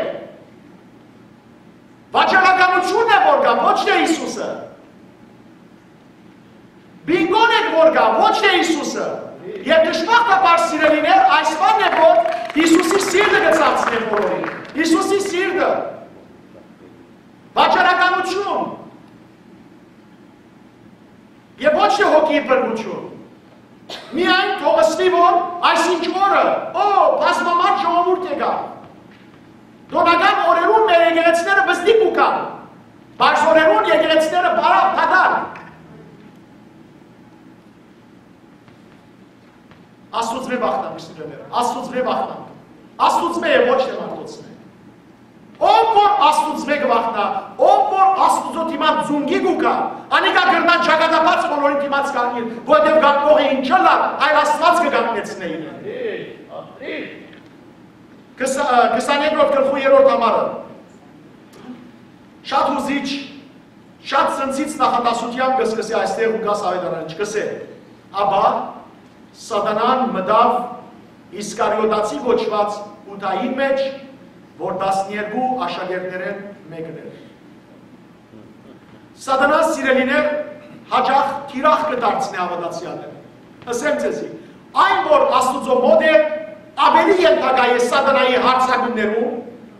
վաճառականությունն է որ կայ, ոչ թէ Յիսուսը։ Բինկոն է որ կայ, ոչ թէ Յիսուսը։ Եւ ճշմարտաբար, սիրելիներ, այս բանն է որ Յիսուսի սիրտը կը ցածնէ բոլորին։ Յիսուսի սիրտը։ Վաճառականություն։ Եւ ոչ թէ հոգիի բռնություն։ Միայն թող ըսուի, որ այսինչ օրը, օ, բազմամարդ ժողովուրդ եկաւ։ Տօնական օրերուն մեր եկեղեցիները բզդիկ ու կան։ Պարզ օրերուն եկեղեցիները բարակ, դատարկ։ Աստուծմէ վախնանք, սիրելիներ, Աստուծմէ վախնանք։ Աստուծմէ է, ոչ թէ մարդոցմէ։ Ով որ Աստուծմէ կը վախնայ, ով որ Աստուծոյ դիմաց զունգի կու գայ, անիկա կրնայ ճակատապարզ բոլորին դիմաց կանգնիլ, որովհետեւ կանգնողը ինչ ըլլայ, այլ Աստուած կը կանգնեցնէ իրեն։ Քսա-, քսաներկրորդ գլխու երրորդ համարը։ Շատ հուզիչ, շատ ցնցիչ նախադասութեամբ կը սկսի այստեղ Ղուկաս աւետարանը, կ'ըսէ. «Ապա Սատանան մտաւ Իսկարիոտացի կոչուած Յուդային մէջ, որ տասներկու աշակերտներէն մէկն էր»։ Սատանան, սիրելիներ, յաճախ թիրախ կը դարձնէ հաւատացեալները։ Ըսեմ ձեզի, այն որ Աստուծոյ մօտ է, աւելի ենթակայ է Սատանայի յարձակումներուն,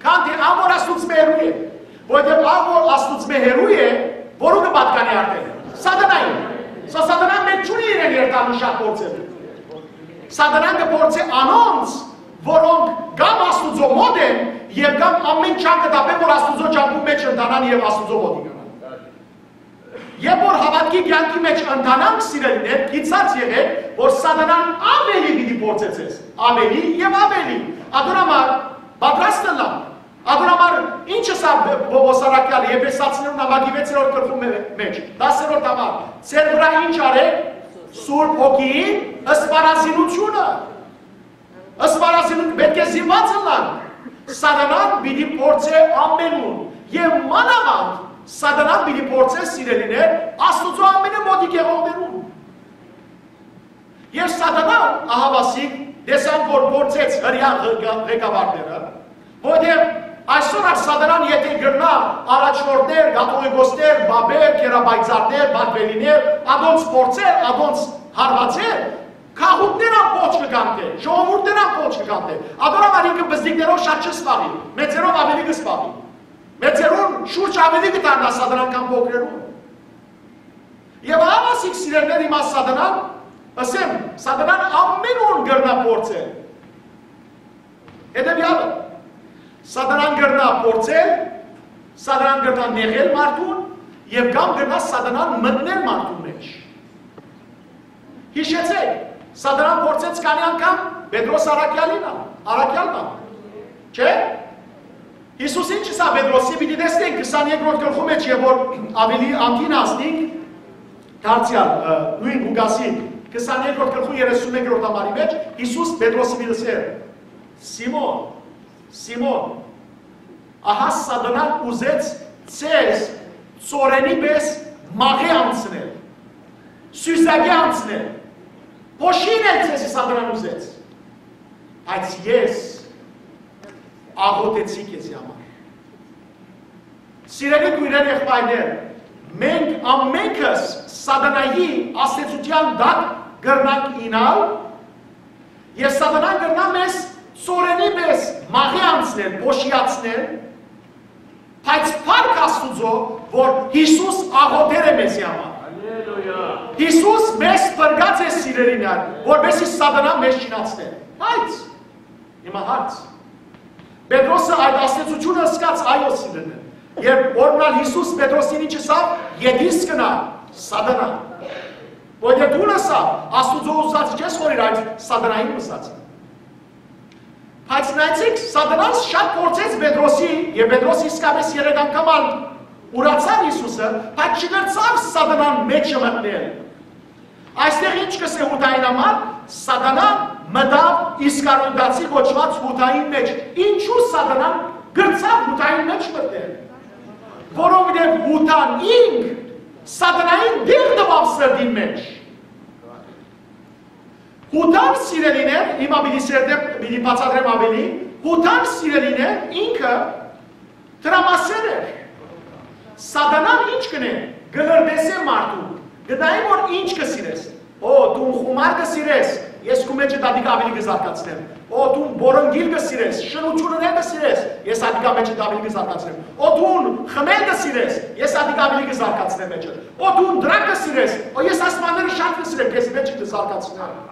քան թէ ան որ Աստուծմէ հեռու է, որովհետեւ ան որ Աստուծմէ հեռու է, որու կը պատկանի արդէն։ Սատանային։ Սա Սատանան մէջ չունի իրեն երթալու շատ փորձեր։ Սատանան կը փորձէ անոնց, որոնք կամ Աստուծոյ մօտ են, եւ կամ ամէն ջանք կը տապեն, որ Աստուծոյ ճամբուն մէջ ընթանան եւ Աստուծոյ մօտ իկանան։ Երբ որ հաւատքի կեանքի մէջ ընթանանք, սիրելիներ, գիտցած եղէք, որ Սատանան աւելի պիտի փորձեցես, աւելի եւ աւելի։ Ատոր համար պատրաստ ըլլանք։ Ատոր համար ինչ ըսաւ Պ-, Պ-, Պողոս առաքեալը Եփեսացիներուն նամակի վեցերորդ գլխու մէ-, մէջ, տասերորդ համար. «Ձեր վրայ ինչ արեք, Սուրբ Հոգիին սպառազինությունը»։ Սպառազինություն պէտք է զինուած ըլլանք։ Սատանան պիտի փորձէ ամենուն, եւ մանաւանդ Սատանան պիտի փորձէ, սիրելիներ, Աստուծոյ ամենէ մօտիկ եղողներուն։ Եւ Սատանան, ահաւասիկ, տեսանք, որ փորձեց հրեան ղեկավարները, որովհետեւ այսօր ալ Սատանան, եթէ կրնայ առաջնորդներ, կաթողիկոսներ, պապեր, գերապայծառներ, պատվելիներ, ադոնց փորձել, ադոնց հարվածել, գաղութներ ամբողջ կը կանխէ, ժողովուրդներ ամբողջ կը կանխէ։ Ատոր համար ինքը բզդիկներով շատ չի զբաղի, մեծերով աւելի կը զբաղի։ Մեծերուն շուրջ աւելի կը դառնայ Սատանան քան փոքրերուն։ Եւ ահա ասիկ, սիրելիներ, հիմա Սատանան, ըսեմ, Սատանան ամենուն կրնայ փորձել։ Հետեւեալը, Սատանան կրնայ փորձել, Սատանան կրնայ նեղել մարդուն, եւ կամ կրնայ Սատանան մտնել մարդուն մէջ։ Յիշեցէք, Սատանան փորձեց քանի՞ անգամ Պետրոս առաքեալին ա, առաքեալն ա, չէ՞։ Յիսուս ինչ ըսաւ Պետրոսի, պիտի տեսնենք քսաներկրորդ գլխու մէջ, եւ որ աւելի անդին հասնենք, դարձեալ, ը, նոյն Ղուկասի քսաներկրորդ գլխու երեսունմեկերորդ համարի մէջ, Յիսուս Պետրոսի պիտի ըսէր. «Սիմոն, Սիմոն, Ահա Սատանան ուզեց ձեզ ծորենի պէս մաղի անցնել, սիւզակի անցնել, փոշինել ձեզի Սատանան ուզեց, բայց ես աղօթեցի քեզի համար։ Սիրելի քոյրեր, եղբայրներ, մենք ամենքս Սատանայի ազդեցութեան տակ կրնանք իյնալ, եւ Սատանան կրնայ մեզ ծորենի պէս մաղի անցնել, փոշիացնել, բայց փառք Աստուծոյ, որ Յիսուս աղօթեր է մեզի համար։ Հալելույա։ Յիսուս մեզ փրկած է, սիրելիներ, որպեսզի Սատանան մեզ չինացնէ։ Բայց, հիմա հարց. Պետրոսը այդ ազդեցութիւնը զգաց, այո, սիրելիներ։ Երբ օրհնալ Յիսուս Պետրոսին ինչ ըսաւ, ետիս կնայ, Սատանա։ Որ դե դուն ըսաւ, Աստուծոյ ուզածը չես խորիր, այլ Սատանային ուզածը։ Բայց նայեցիք, Սատանան շատ փորձեց Պետրոսի, եւ Պետրոս իսկապես երեք անգամ ալ ուրացաւ Յիսուսը, բայց չկրցաւ Սատանան մեջը մտնել։ Այստեղ ինչ կսե Յուդային համար, Սատանան մտաւ Իսկարիովտացի կոչուած Յուդային մէջ։ Ինչու Սատանան կրցաւ Յուդային մէջ մտնել։ Որովհետեւ Յուդան ինք Սատանային դեր տուաւ սրտին մէջ։ Յուդան, սիրելիներ, հիմա պիտի սերտեմ, պիտի բացատրեմ աւելի, Յուդան, սիրելիներ, ինքը դրամասեր էր։ Սատանան ինչ կ'ընէ, կը լրտեսէ մարդուն, կը նայէ որ ինչ կը սիրես։ Օ, դուն խումար կը սիրես, ես քու մէջդ ատիկա աւելի կը զարգացնեմ։ Օ, դուն պոռնկիլ կը սիրես, շնութիւնը կը սիրես, ես ատիկա մէջդ աւելի կը զարգացնեմ։ Օ, դուն խմել կը սիրես, ես ատիկա աւելի կը զարգացնեմ մէջդ։ Օ, դուն դրակ կը սիրես, օ, ես ասմանները շատ կը սիրեմ, քեզի մէջը կը զարգացնեմ։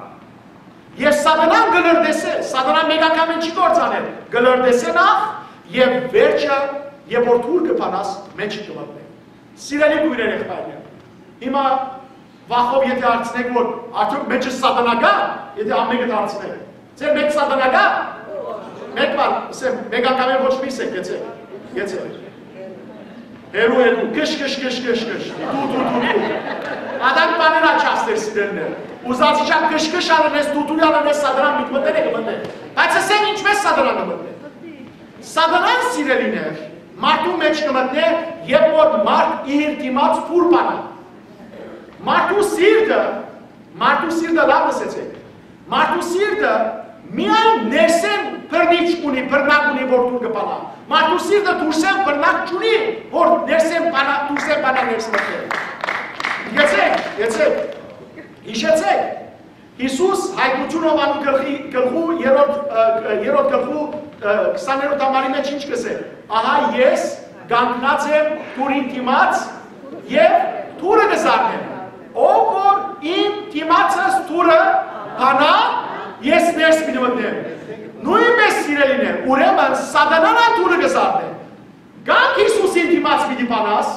Եւ Սատանան կը լրտեսէ, Սատանան մէկ անգամ չի կործաներ, կը լրտեսէ նախ եւ վերջը, երբ որ դուր կը բանաս, մէջը կը մտնէ։ Սիրելի քոյրեր, եղբայրներ, հիմա վախով եթէ հարցնեք, որ արդյոք մէջը Սատանա կա, եթէ ամենքը դարձնեք, ձեր մէջ Սատանա կա, մէկ բան, ասեմ, մէկ անգամ էլ ոչ մի սեք, գեցեք, գեցեք։ Հերու, հերու, կշ, կշ, կշ, կշ, կշ, դու, դու, դու, դու։ Ադանք բաներ աչասներ, սիրելիներ։ Ուզած իջան կշ, կշ աննես, դու, դու աննես, Սատանան միտմտել է, կմտնե։ Բայց ասեմ, ինչպես Սատանան կմտնե։ Սատանան, սիրելիներ, մարդու մէջ կմտնէ, երբ որ մարդ իր դիմաց դուր բանայ։ Մարդու սիրտը, մարդու սիրտը, լաւ լսեցեք, մարդու սիրտը միայն ներսէն բռնիչ ունի, բռնակ ունի, որ դուր կը բանայ։ Մարդու սիրտը դուրսէն բռնակ չունի, որ ներսէն բանա, դուրսէն բանա ներս մտնի։ Գեցեք, գեցեք, յիշեցեք, Յիսուս Հայտնութիւն Յովհաննի գլխի, գլխու երրորդ, ը, երրորդ գլխու, ը, քսաներորդ համարի մէջ ինչ կ'ըսէ. «Ահա ես կանգնած եմ դուռին դիմաց եւ դուռը կը զարնեմ։ Ով որ իմ դիմացս դուռը բանայ, ես ներս պիտի մտնեմ»։ Նոյնպէս, սիրելիներ, ուրեմն Սատանան ալ դուռը կը զարնէ։ Կամ Յիսուսին դիմաց պիտի բանաս,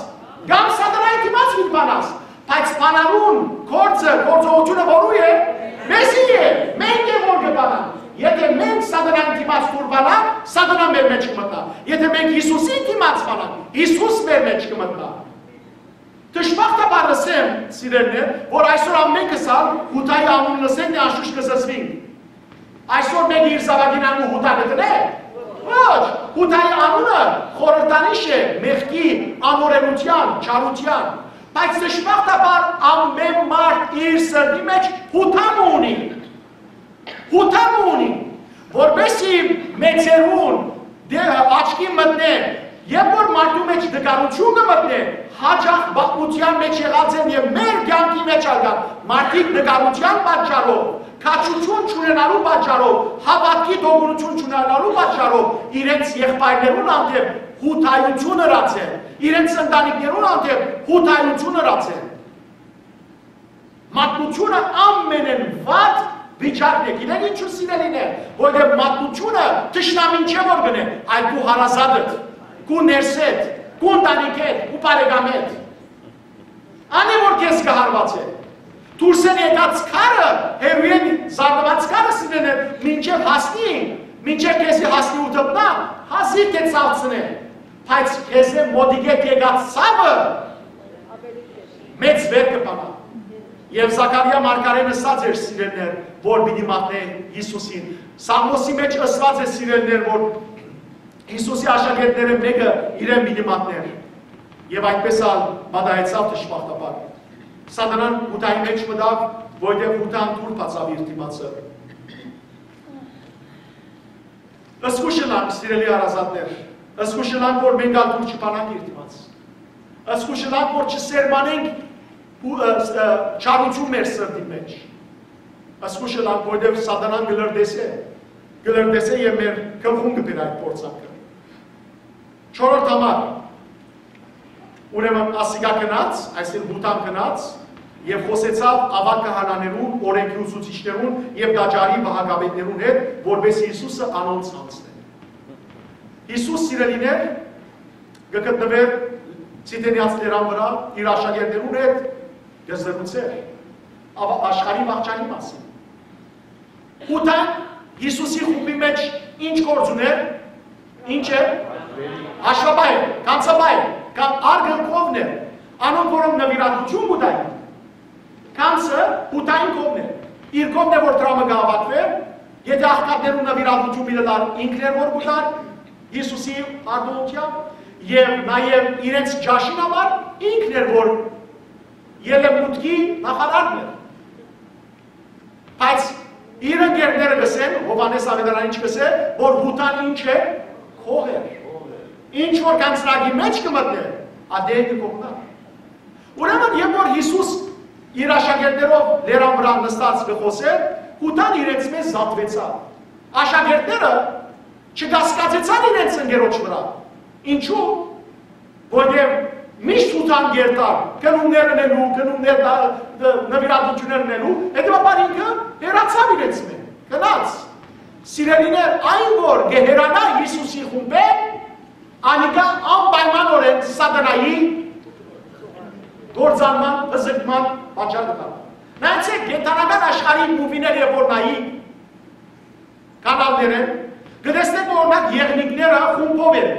կամ Սատանային դիմաց պիտի բանաս, բայց բանալուն գործը, գործողութիւնը որու է, մեզի է, մենք է որ կը բանանք։ Եթէ մենք Սատանային դիմաց դուռ բանանք, Սատանան մեր մէջ կը մտնայ։ Եթէ մենք Յիսուսին դիմաց բանանք, Յիսուս մեր մէջ կը մտնայ։ Դժբախտաբար, ըսեմ, սիրելիներ, որ այսօր ամենքս ալ Յուդայի անունը լսենք, անշուշտ կը զզվինք։ Այսօր մեկը իր զաւակին անունը Յուդա կը դնէ։ Ոչ, Յուդայի անունը խորհրդանիշ է մեղքի, անօրէնութեան, չարութեան։ Բայց դժբախտաբար ամեն մարդ իր սրտի մէջ Յուդա մը ունի։ Յուդա մը ունի, որպեսզի մեծերուն դե-, աչքի մտնէ, երբ որ մարդու մէջ տկարութիւն կը մտնէ, յաճախ պատմութեան մէջ եղած են եւ մեր կեանքի մէջ ալ կան մարդիկ տկարութեան պատճառով, քաջութիւն չունենալու պատճառով, հաւատքի տոկունութիւն չունենալու պատճառով իրենց եղբայրներուն հանդէպ Յուդայութիւն ըրած են, իրենց ընտանիքներուն հանդէպ Յուդայութիւն ըրած են։ Մատնութիւնը ամենէն վատ վիճակն է։ Գիտեք ինչու, սիրելիներ, որովհետեւ մատնութիւնը թշնամին չէ որ գնէ, այլ քու հարազատդ, քու ներսեդ, քու ընտանիքեդ, քու բարեկամեդ։ Ան է որ քեզ կը հարվածէ։ Դուրսէն եկած քարը, հեռուէն զարնուած քարը, սիրելիներ, մինչեւ հասնի, մինչեւ քեզի հասնի ու դպնայ, հազիւ թէ ցաւցնէ, բայց քեզի մօտիկէ եկած ցաւը մեծ վեր կը բանայ։ Եւ Զաքարիա մարգարէն ըսած էր, սիրելիներ, որ պիտի մատնէ Յիսուսին։ Սաղմոսի մէջ ըսուած է, սիրելիներ, որ Յիսուսի աշակերտներէն մէկը իրեն պիտի մատնէր։ Եւ այդպես ալ պատահեցաւ դժբախտաբար։ Սատանան Յուդայի մէջ մտաւ, որտեղ Յուդան դուռ բացաւ իր դիմացը։ Զգոյշ ըլանք, սիրելի հարազատներ, զգոյշ ըլանք, որ մենք ալ դուռ չբանանք իր դիմաց։ Զգոյշ ըլանք, որ չսերմանենք ու, ը, ը, չարութիւն մեր սրտին մէջ։ Զգոյշ ըլանք, որտեղ Սատանան կը լրտեսէ, կը լրտեսէ եւ մեր գլխուն կը բերէ այդ փորձանքը։ Չորրորդ համար, ուրեմն ասիկա գնաց, այսինքն Յուդան գնաց, եւ խօսեցաւ աւագ քահանաներուն, օրենքի ուսուցիչներուն եւ տաճարի պահակապետներուն հետ, որպէս Յիսուսը անոնց յանձնէ։ Յիսուս, սիրելիներ, կը գտնուէր Ցիդենեաց լերան վրայ իր աշակերտներուն հետ, կը զրուցէր, ա-, աշխարհի վաղճանի մասին։ Յուդան Յիսուսի խումբի մէջ ի՞նչ գործ ունէր, ի՞նչ է, հաշվապահ էր, գանձապահ էր, կամ արգելքովն էր, անոնք, որոնք նուիրատուութիւն կու տային, գանձը Յուդային կողմն էր, իր կողմն է, որ դրամը կը հաւաքուէր, եթե աղքատներուն նուիրատուութիւն պիտի տար, ինքն էր, որ կու տար Յիսուսի արտոնությամբ, եւ նաեւ իրենց ճաշին համար ինքն էր, որ ելեւմուտքի նախարարն էր։ Բայց իր ընկերները կ'ըսեն, Յովհաննէս աւետարանը ինչ կ'ըսէ, որ Յուդան ինչ է, գող էր։ Ինչ որ գանձնակի մէջ կը մտնէ, ատեն կը կողնայ։ Ուրեմն, երբ որ Յիսուս իր աշակերտներով լերան վրայ նստած կը խօսէր, Յուդան իրենց մէջ զատուեցաւ։ Աշակերտները չկասկածեցան իրենց ընկերոջ վրայ։ Ինչու՞։ Որտեղ միշտ Յուդան կ'երթար գնումներ ընելու, գնումներ դա, դա, նվիրատվություններ ընելու, հետեւաբար ինքը հեռացաւ իրենց մէջ, գնաց։ Սիրելիներ, այն որ կը հեռանայ Յիսուսի խումբէն, անիկա անպայմանօրէն Սատանայի կործանման, հզկման պատճառ կը դառնայ։ Նայեցէք, կենդանական աշխարհի մուվիներ երբ որ նայի, կանալներէն, կը տեսնենք, որ օրինակ, եղնիկները խումբով են։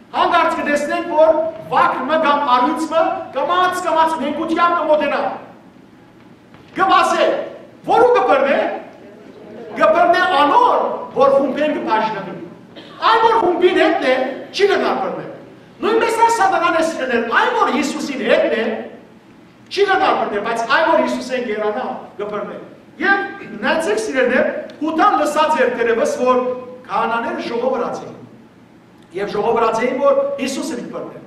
Հանկարծ կը տեսնենք, որ վագր մը կամ առիւծ մը կամաց-կամաց նենգութեամբ կը մօտենայ։ Կը վազէ, որո՞ւ կը բռնէ, կը բռնէ անոր, որ խումբէն կը բաժնուի։ Այն որ խումբին հետն է, չի կրնար բռնել։ Նոյնպէս ալ Սատանան է, սիրելիներ, այն որ Յիսուսին հետն է, չի կրնար բռնել, բայց այն որ Յիսուսէն կ'երանայ, կը բռնէ։ Եւ նայեցէք, սիրելիներ, Յուդան լսած էր դեռեւս, որ քահանաները ժողովրած էին։ Եւ ժողովրած էին, որ Յիսուսը պիտի բռնեն։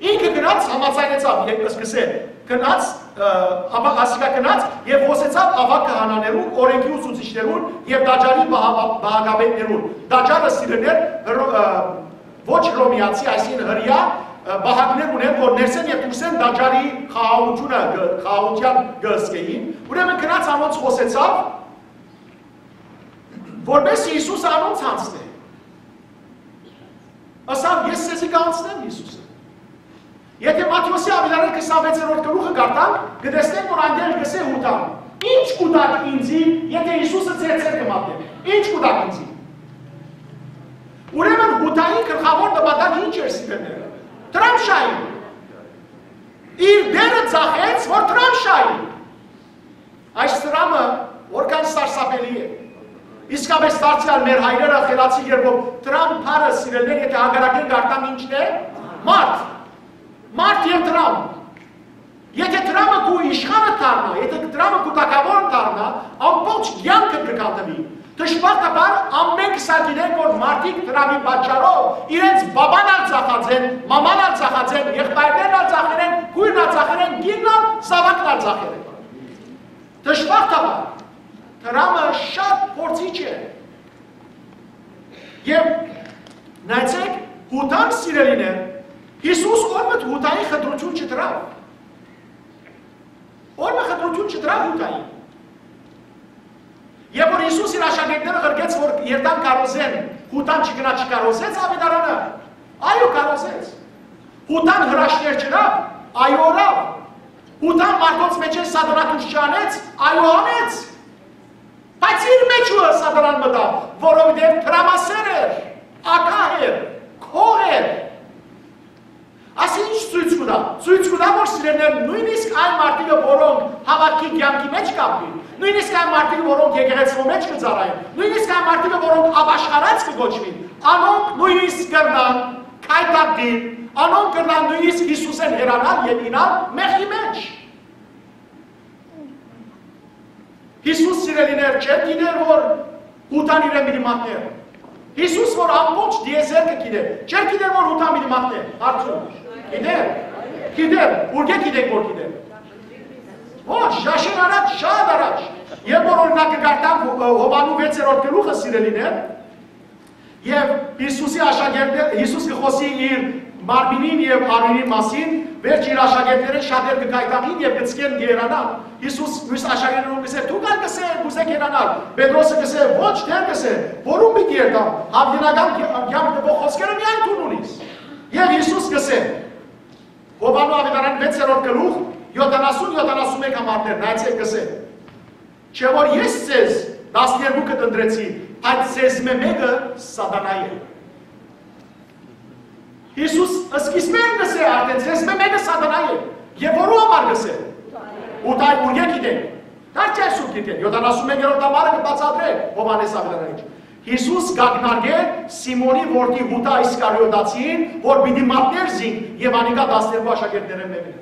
Ինքը գնաց, համաձայնեցաւ, երբ սկսե, գնաց, ը, ապա ասիկա գնաց եւ խօսեցաւ աւագ քահանաներուն, օրենքի ուսուցիչներուն եւ տաճարի պահապ-, պահակապետներուն։ Տաճարը, սիրելիներ, հրո-, ը, ոչ հռոմեացի, այսինքն հրեայ, ը, պահակներ ունեն, որ ներսէն եւ դուրսէն տաճարի խաղաղութիւնը կը, խաղաղութեան կը զգէին։ Ուրեմն գնաց անոնց խօսեցաւ, որպէս Յիսուսը անոնց յանձնէ։ Ըսաւ. «Ես ձեզի կ'անցնեմ Յիսուսը»։ Եթե Մատթէոսի աւետարան քսանվեցերորդ գլուխը կարդանք, կը տեսնենք, որ անդէն կ'ըսէ Յուդան. «Ի՞նչ կ'ուտաք ինծի, եթե Յիսուսը ձեր ձեռքը մատնեմ։ Ի՞նչ կ'ուտաք ինծի»։ Ուրեմն Յուդայի գլխաւոր նպատակը ի՞նչ էր, սիրելիներ։ Դրամ շահի։ Իր դերը ծախեց, որ դրամ շահի։ Այս դրամը որքան սարսափելի է։ Իսկապես դարձեալ մեր հայրերը խելացի կերպով դրամ բառը, սիրելիներ, եթե հակառակէն կարդամ, ի՞նչն է, մարդ։ Մարդ եւ դրամ։ Եթե դրամը քու իշխանը դառնայ, եթե դրամը քու թագաւորը դառնայ, ամբողջ կեանքդ կը քանդուի։ Դժբախտաբար ամէնք սա գիտենք, որ մարդիկ դրամի պատճառով իրենց բաբան ալ ծախած են, մաման ալ ծախած են, եղբայրներն ալ ծախեր են, քոյրն ալ ծախեր են, կինն ալ, զաւակն ալ ծախեր են։ Դժբախտաբար, դրամը շատ փորձիչ է։ Եւ նայեցեք, Յուդան, սիրելիներ, Յիսուս ո՞րմը Յուդային խտրություն չդրաւ։ Ո՞րմը խտրություն չդրաւ Յուդային։ Երբ որ Յիսուս իր աշակերտները ղրկեց, որ երթան քարոզեն, Յուդան չգնա չքարոզեց աւետարանը, այո, քարոզեց։ Յուդան հրաշքներ չըրաւ, այո, ըրաւ։ Յուդան մարդոց մէջէն Սատանա դուրս չանեց, այո, անեց։ Բայց իր մէջ ուրը Սատանան մտաւ, որովհետեւ դրամասեր էր, ագահ էր, գող էր։ Ասի ինչ ցոյց կու տայ։ Ցոյց կու տայ, որ, սիրելիներ, նոյնիսկ այն մարդիկը, որոնք հաւատքի կեանքի մէջ կ'ապրին, նոյնիսկ այն մարդիկը, որոնք եկեղեցւոյ մէջ կը ծառայեն, նոյնիսկ այն մարդիկը, որոնք ապաշխարած կը կոչուին, Անոնք նոյնիսկ կրնան քայթակղիլ, անոնք կրնան նոյնիսկ Յիսուսէն հեռանալ եւ իյնալ մեղքի մէջ։ Յիսուս, սիրելիներ, չէ՞ր գիտեր, որ Յուդան իրեն պիտի մատնէր։ Յիսուս, որ ամբողջ տիեզերքը գիտէ, չէ՞ր գիտեր, որ Յուդան պիտի մատնէ։ Հարցում։ Գիտեր։ Գիտեր։ Ուրկէ՞ գիտենք, որ գիտեր։ Ոչ, շաշեն առաջ, շատ առաջ։ Երբ որ, օրինակ, կկարդանք Յովհաննու վեցերորդ գլուխը, սիրելիներ, եւ Յիսուսի աշակերտներ, Յիսուս կը խօսի իր մարմինին եւ արիւնին մասին, վերջ իր աշակերտներէն շատեր կը գայթակղին եւ կը ցկեն, կը հեռանան։ Յիսուս միւս աշակերտներուն կ'ըսէ. «Դուք ալ», կ'ըսէ, «կ'ուզէք հեռանալ»։ Պետրոսը կ'ըսէ. «Ոչ, Տէր», կ'ըսէ, «որուն պիտի երթամ, յաւիտենական կեանք տուող խօսքերը միայն դուն ունիս»։ Եւ Յիսուս կ'ըսէ, Յովհաննու աւետարան վեցերորդ գլուխ, յոթանասուն, յոթանասուն մէկ համարներ, նայեցէք, կ'ըսէ. «Չէ՞ որ ես ձեզ տասներկուքը ընտրեցի, բայց ձեզմէ մէկը սատանայ է»։ Յիսուս սկիզբէն կ'ըսէ արդէն. «Ձեզմէ մէկը սատանայ է»։ Եւ որու համար կ'ըսէ։ Յուդայ, ուրկէ՞ գիտենք։ Դարձի այսուր գիտեն, յոթանասուն մեկերորդ համարը կը բացատրէ Յովհաննէս աւետարանին։ Յիսուս կ'ակնարկէ Սիմոնի որդի Յուդա Իսկարիոտացին, որ պիտի մատնէր զինք եւ անիկա տասներկու աշակերտներէն մէկն էր։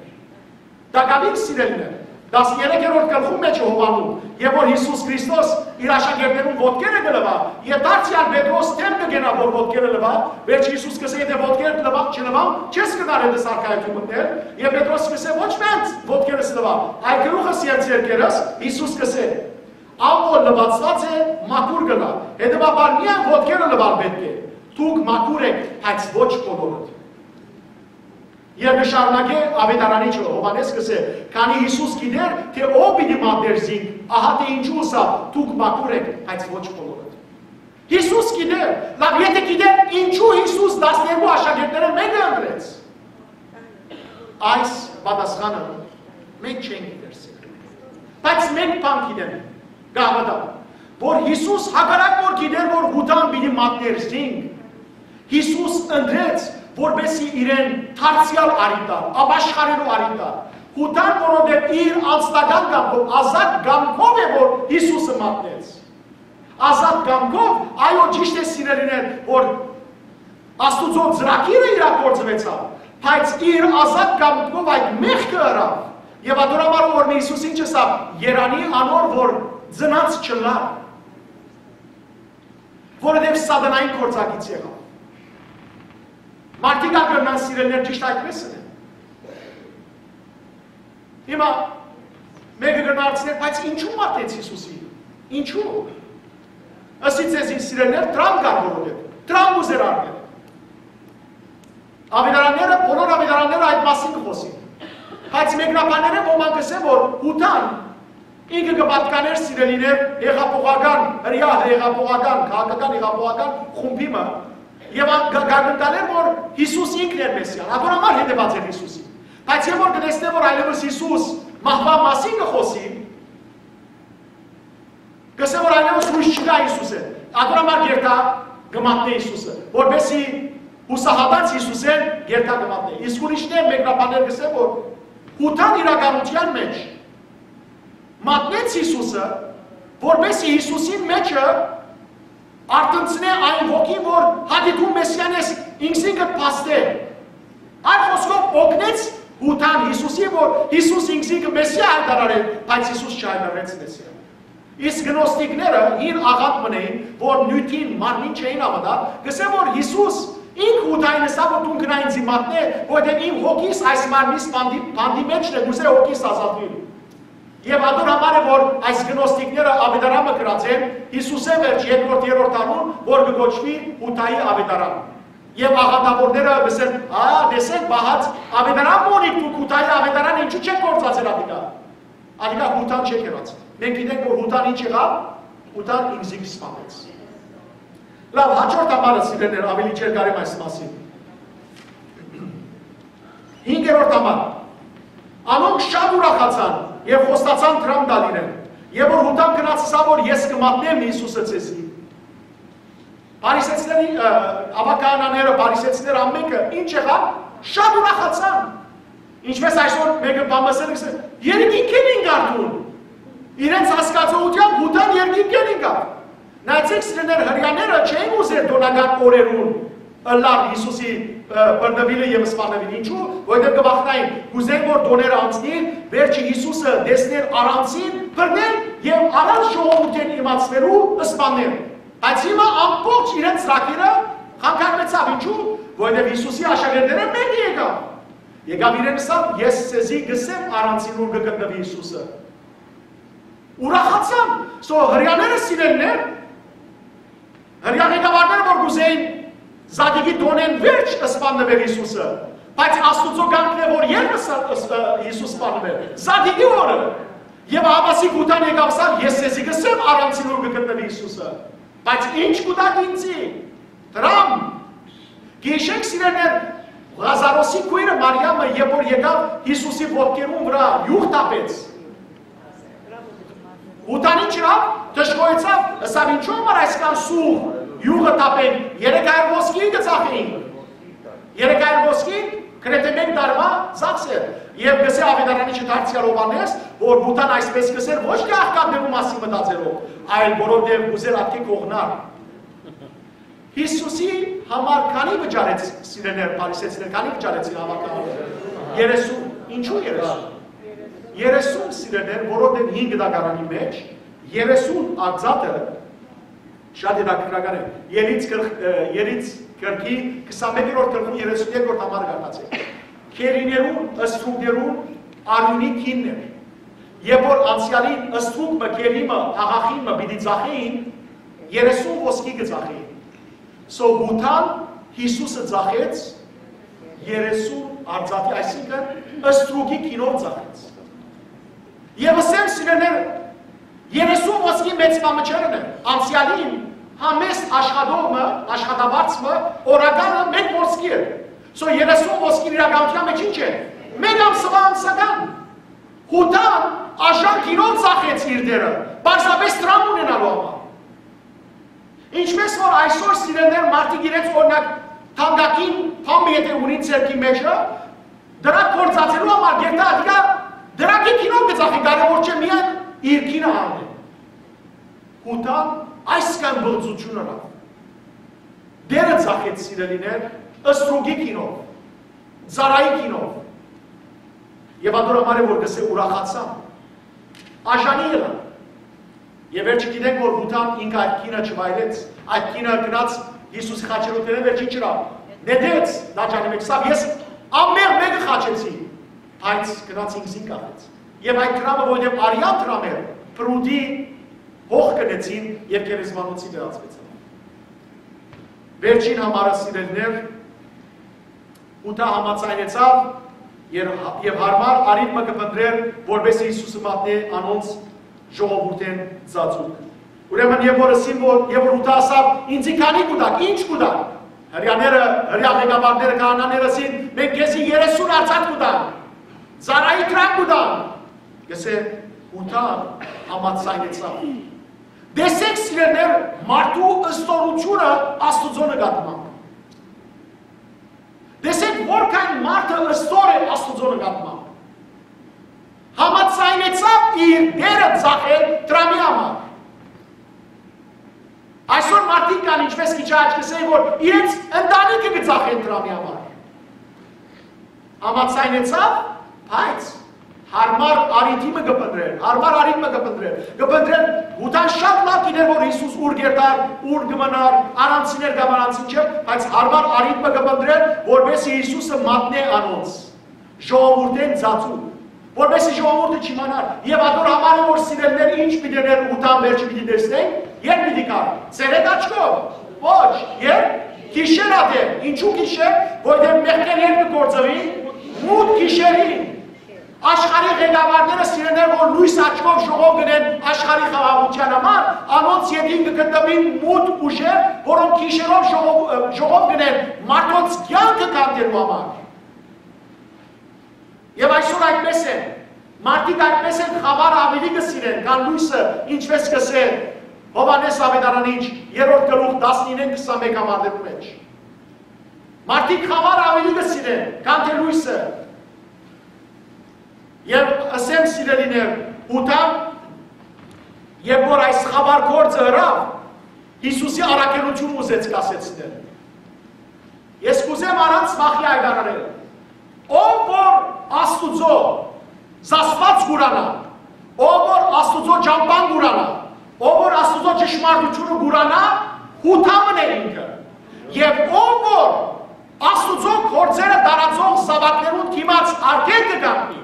Տակաւին, սիրելիներ, տասներեքերորդ գլխուն մէջ է Յովհաննու, եւ որ Յիսուս Քրիստոս իր աշակերտներուն ոտքերը կը լուայ, եւ դարձեալ Պետրոս դէմ կը կենայ, որ ոտքերը լուայ, վերջ Յիսուս կ'ըսէ. «Եթէ ոտքերդ լուայ, չլուան, չես կրնար հետս արքայութիւն մտնել»։ Եւ Պետրոս կ'ըսէ. «Ոչ միայն ոտքերս լուայ, այլ գլուխս եւ ձեռքերս»։ Յիսուս կ'ըսէ. «Ան որ լուացուած է, մաքուր կ'ըլլայ, հետեւաբար միայն ոտքերը լուալ պէտք է։ Դուք մաքուր էք, բայց ոչ բոլորդ»։ Եւ կը շարունակէ աւետարանիչը, Յովհաննէս կ'ըսէ. «Քանի Յիսուս գիտէր, թէ ով պիտի մատնէր զինք, ահա թէ ինչու ըսաւ. "Դուք մաքուր էք, բայց ոչ բոլորդ"»։ Յիսուս գիտէր, լաւ, եթէ գիտէր, ինչու Յիսուս տասներկու աշակերտներէն մէկը ընտրեց։ Այս պատասխանը մենք չենք գիտեր, սիրելիներ։ Բայց մենք բան գիտեմ, կհաւատամ, որ Յիսուս, հակառակ որ գիտեր, որ Յուդան պիտի մատնէր զինք, Յիսուս ընտրեց, որպեսզի իրեն դարձեալ արի տար, ապաշխարելու արի տար։ Յուդան, որովհետեւ իր անձնական կամքով, ազատ կամքով է, որ Յիսուսը մատնեց։ Ազատ կամքով, այո, ճիշդ է, սիրելիներ, որ Աստուծոյ ծրագիրը իրագործուեցաւ, բայց իր ազատ կամքով այդ մեղքը ըրաւ։ Եւ ատոր համար օրհնի Յիսուս ինչ ըսաւ. «Երանի անոր, որ ծնած չըլլայ, որովհետեւ սատանային գործակից եղաւ»։ Մարդիկ ալ կրնան, սիրելիներ, ճիշդ այդպես ընեն։ Հիմա մէկը կրնայ հարցնել. «Բայց ինչու մատնեց Յիսուսին։ Ինչու»։ Ըսի ձեզի, սիրելիներ, դրամ կար, որովհետեւ դրամ կ'ուզէր առնել։ Աւետարանները, բոլոր աւետարանները այդ մասին կը խօսին։ Բայց մեկնաբանները ոմանք կ'ըսեն, որ Յուդան ինքը կը պատկանէր, սիրելիներ, հեղափոխական, հրեայ հեղափոխական, քաղաքական հեղափոխական խումբի մը, եւ ան կը, կը գտանէր, որ Յիսուս ինքն էր Մեսիան, ատոր համար հետեւած էր Յիսուսին։ Բայց երբ որ կը տեսնէ, որ այլեւս Յիսուս մահվան մասին կը խօսի, կ'ըսէ, որ այլեւս յոյս չկայ Յիսուսէն, ատոր համար կ'երթայ կը մատնէ Յիսուսը, որպեսզի յուսահատած Յիսուսէն կ'երթայ կը մատնէ։ Իսկ ուրիշներ, մեկնաբաններ կ'ըսեն, որ Յուդան իրականութեան մէջ մատնեց Յիսուսը, որպեսզի Յիսուսին մէջը արթնցնէ այն ոգին, որ հատիկուն Մեսիան ես ինքզինքը փաստէ։ Այլ խօսքով, օգնեց Յուդան Յիսուսին, որ Յիսուս ինքզինքը Մեսիա հայտարարէ, բայց Յիսուս չհայտարարեց Մեսիա։ Իսկ գնոստիկները հին աղանդ մըն էին, որ նիւթին մարմին չէին հաւատար, կ'ըսեն, որ Յիսուս ինք Յուդային ըսաւ, որ դուն գնա ինձի մատնէ, որովհետեւ իմ հոգիս այս մարմնիս բանտի, բանտի մէջն է, կ'ուզէ հոգիս ազատուիլ։ Եւ ատոր համար է, որ այս գնոստիկները աւետարանը գրած են Յիսուսէն վերջ երկրորդ, երրորդ դարուն, որ կը կոչուի Յուդայի աւետարան։ Եւ աղանդավորները կ'ըսեն. «Ա, տեսեք, պահած, աւետարան մը ունիք դուք, Յուդայի աւետարան, ինչու՞ չեք գործածեր ատիկա»։ Ատիկա Յուդան չէ եղած։ Մենք գիտենք, որ Յուդան ինչ եղաւ, Յուդան ինքզինք սպանեց։ Լաւ, հաջորդ համարը, սիրելիներ, աւելի չերկարեմ այս մասին։ Հինգերորդ համար։ Անոնք շատ ուրախացան եւ խոստացան դրամ տալ իրեն։ Եւ որ Յուդան գնաց, ըսաւ, որ ես կը մատնեմ Յիսուսը ձեզի։ Փարիսեցիների, ը, աւագանաները, փարիսեցիները ամենքը ինչ եղան, շատ ուրախացան։ Ինչպես այսօր մեկը բան ասել է, «Երկինքէն ինկար դուն»։ Իրենց հասկացողությամբ Յուդան երկինքէն ինկար։ Նայեցէք, սիրելիներ, հրեաները չէին ուզեր տօնական օրերուն ըլլալ Յիսուսի, ը, բռնուիլը եւ սպանուիլը։ Ինչու՞, որովհետեւ կը վախնային, կ'ուզեն որ տօները անցնին, վերջը Յիսուսը տեսնեն առանցին, բռնեն եւ առանց ժողովուրդին իմացնելու սպանեն։ Բայց հիմա ամբողջ իրենց ծրագիրը խանգարուեցաւ։ Ինչու՞, որովհետեւ Յիսուսի աշակերտները մէկը եկաւ։ Եկաւ իրեն ըսաւ. «Ես ձեզի կ'ըսեմ առանցին ուր կը գտնուի Յիսուսը»։ Ուրախացան։ So, հրեաները, սիրելիներ, հրեա ղեկավարները որ կ'ուզեին Զատիկի տօնէն վերջ սպաննուեր Յիսուսը, բայց Աստուծոյ կամքն է որ երբ ս-, ս-, Յիսուս սպաննուեր, Զատիկի օրը։ Եւ ահա Յուդան եկաւ ըսաւ. «Ես ձեզի կ'ըսեմ առանցին ուր կը գտնուի Յիսուսը»։ Բայց ինչ կու տաք ինձի։ Դրամ։ Գիշեք, սիրելիներ, Ղազարոսի քոյրը Մարիամը, երբ որ եկաւ Յիսուսի ոտքերուն վրայ յուղ թափեց, Յուդան ինչ ըրաւ, դժգոհեցաւ, ըսաւ. «Ինչո՞ւ համար այսքան սուղ յուղը թափենք, երեք հարյուր ոսկի կը ծախենք»։ Երեք հարյուր ոսկի գրեթէ մէկ տարուան ծախս էր։ Եւ կ'ըսէ աւետարանիչը դարձեալ Յովհաննէս, որ Յուդան այսպես կ'ըսէր ոչ թէ աղքատներու մասին մտածելով, այլ որովհետեւ կ'ուզէր ատկէ կողնար։ Յիսուսի համար քանի վճարեց, սիրելիներ, փարիսեցիներ, քանի վճարեցին համակարգը։ Երեսուն։ Ինչու՞ երեսուն։ Երեսուն, սիրելիներ, որովհետեւ հին գտակարանի մեջ երեսուն արծաթը շատ հետաքրքրական է։ Ելից գլխ-, ը, Ելից գլխի քսանմեկերորդ գլխու երեսուն երկրորդ համար կարդացեք։ Գերիներուն, ստրուկներուն արիւնի գինն էր։ Երբ որ անցեալին ստրուկ մը, գերի մը, աղախին մը պիտի ծախէին, երեսուն ոսկի կը ծախէին։ So, Յուդան Յիսուսը ծախեց երեսուն արծաթի, այսինքն ստրուկի գինով ծախեց։ Եվ ըսեմ, սիրելիներ, երեսուն ոսկի մեծ բան մը չէ։ Անցեալին համեստ աշխատող մը, աշխատավարձ մը, օրականը մէկ ոսկի է։ So, երեսուն ոսկին իրականության մեջ ինչ է։ Մէկ ամսուայ ամսական։ Յուդան աշան գինով ծախեց իր դերը, պարզապէս դրամ ունենալու համար։ Ինչպես որ այսօր, սիրելիներ, մարդիկ իրենց, օրինակ, թանկագին բան մը եթե ունին ձեռքի մեջը, դրակ գործածելու համար գերտա ատիկա դրակի գինով կը ծախի, կարևոր չէ, միայն իր գինը առնի։ Յուդան այսքան բղծություն ըրաւ։ Դերը ծախեց, սիրելիներ, ստրուկի գինով, ծառայի գինով։ Եվ ատոր համար է որ կ'ըսէ. «Ուրախացան, աշանի եղան»։ Եւ վերջը գիտենք որ Յուդան ինք այդ գինը չվայելեց, այդ գինը գնաց Յիսուսի խաչերու դերին, վերջը ինչ ըրաւ, նետեց տաճարի մեջ, ըսաւ. «Ես ամէն մէկը խաչեցի», բայց գնաց ինքզինք աղեց։ Եւ այդ դրամը, որովհետեւ արեան դրամ էր, պրուտի հող կնեցին եւ գերեզմանոցի վերածուեցան։ Վերջին համարը, սիրելիներ, Յուդա համաձայնեցաւ, եւ, եւ յարմար առիթ մը կը փնտռէր, որպէս Յիսուսը մատնէ անոնց ժողովուրդէն ծածուկ։ Ուրեմն, եւ որ ըսին որ, եւ որ Յուդա ասաւ. «Ինձի քանի կու տաք, ինչ կու տաք»։ Հրեաները, հրեա ղեկավարները, քահանաները ըսին. «Մենք քեզի երեսուն արծաթ կու տանք, ծառայի դրամ կու տանք»։ Կ'ըսէ, Յուդա համաձայնեցաւ։ Տեսեք, սիրելիներ, մարդու ստորությունը Աստուծոյ նկատմամբ։ Տեսեք, որքան մարդը ստոր է Աստուծոյ նկատմամբ։ Համաձայնեցաւ իր դերը ծախել դրամի համար։ Այսօր մարդիկ կան, ինչպես քիչ առաջ կ'ըսէի, որ իրենց ընտանիքը կը ծախեն դրամի համար։ Համաձայնեցաւ, բայց յարմար առիթի մը կը փնտռէր, յարմար առիթ մը կը փնտռէր, կը փնտռէր, Յուդան շատ լաւ գիտէր որ Յիսուս ուր կ'երթար, ուր կը մնար, առանցին էր կամ առանցին չէ, բայց յարմար առիթ մը կը փնտռէր, որպէս Յիսուսը մատնէ անոնց ժողովուրդէն ծածուկ, որպէս ժողովուրդը չիմանար։ Եւ ատոր համար է որ, սիրելիներ, ինչ պիտի ըրէր Յուդան, վերջը պիտի տեսնենք, երբ պիտի գար, ցերեկ աչքով, ոչ, երբ, գիշեր ատեն։ Ինչու՞ գիշեր, որովհետեւ մեղքեր երբ կը գործուին, մութ գիշերին։ Աշխարհի ղեկավարները, սիրելիներ, որ լոյս աչքով ժողով գնեն աշխարհի խաղաղութեան համար, անոնց ետին կը գտնուին մութ ուժեր, որոնք գիշերով ժողով, ժողով գնեն մարդոց կեանքը քանդելու համար։ Եվ այսօր այդպես է։ Մարդիկ այդպես են խավարը ավելի կը սիրեն, քան լոյսը, ինչպես կ'ըսէ Յովհաննէս Աւետարանիչ, երրորդ գլուխ, տասնինը, քսանմէկ համարներու մեջ։ Մարդիկ խավարը ավելի կը սիրեն, քան թէ լոյսը։ Եւ ըսեմ, սիրելիներ, Յուդան, երբ որ այս խավար գործը ըրաւ, Յիսուսի առաքելութիւնը ուզեց կասեցնել։ Ես կ'ուզեմ առանց վախի հայտարարել. ով որ Աստուծոյ զսպուած կ'ուրանայ, ով որ Աստուծոյ ճամբան կ'ուրանայ, ով որ Աստուծոյ ճշմարտութիւնը կ'ուրանայ, յութամն է ինքը։ Եւ ով որ Աստուծոյ գործերը տարածող զաւակներուն դիմաց արգել կը կանգնի,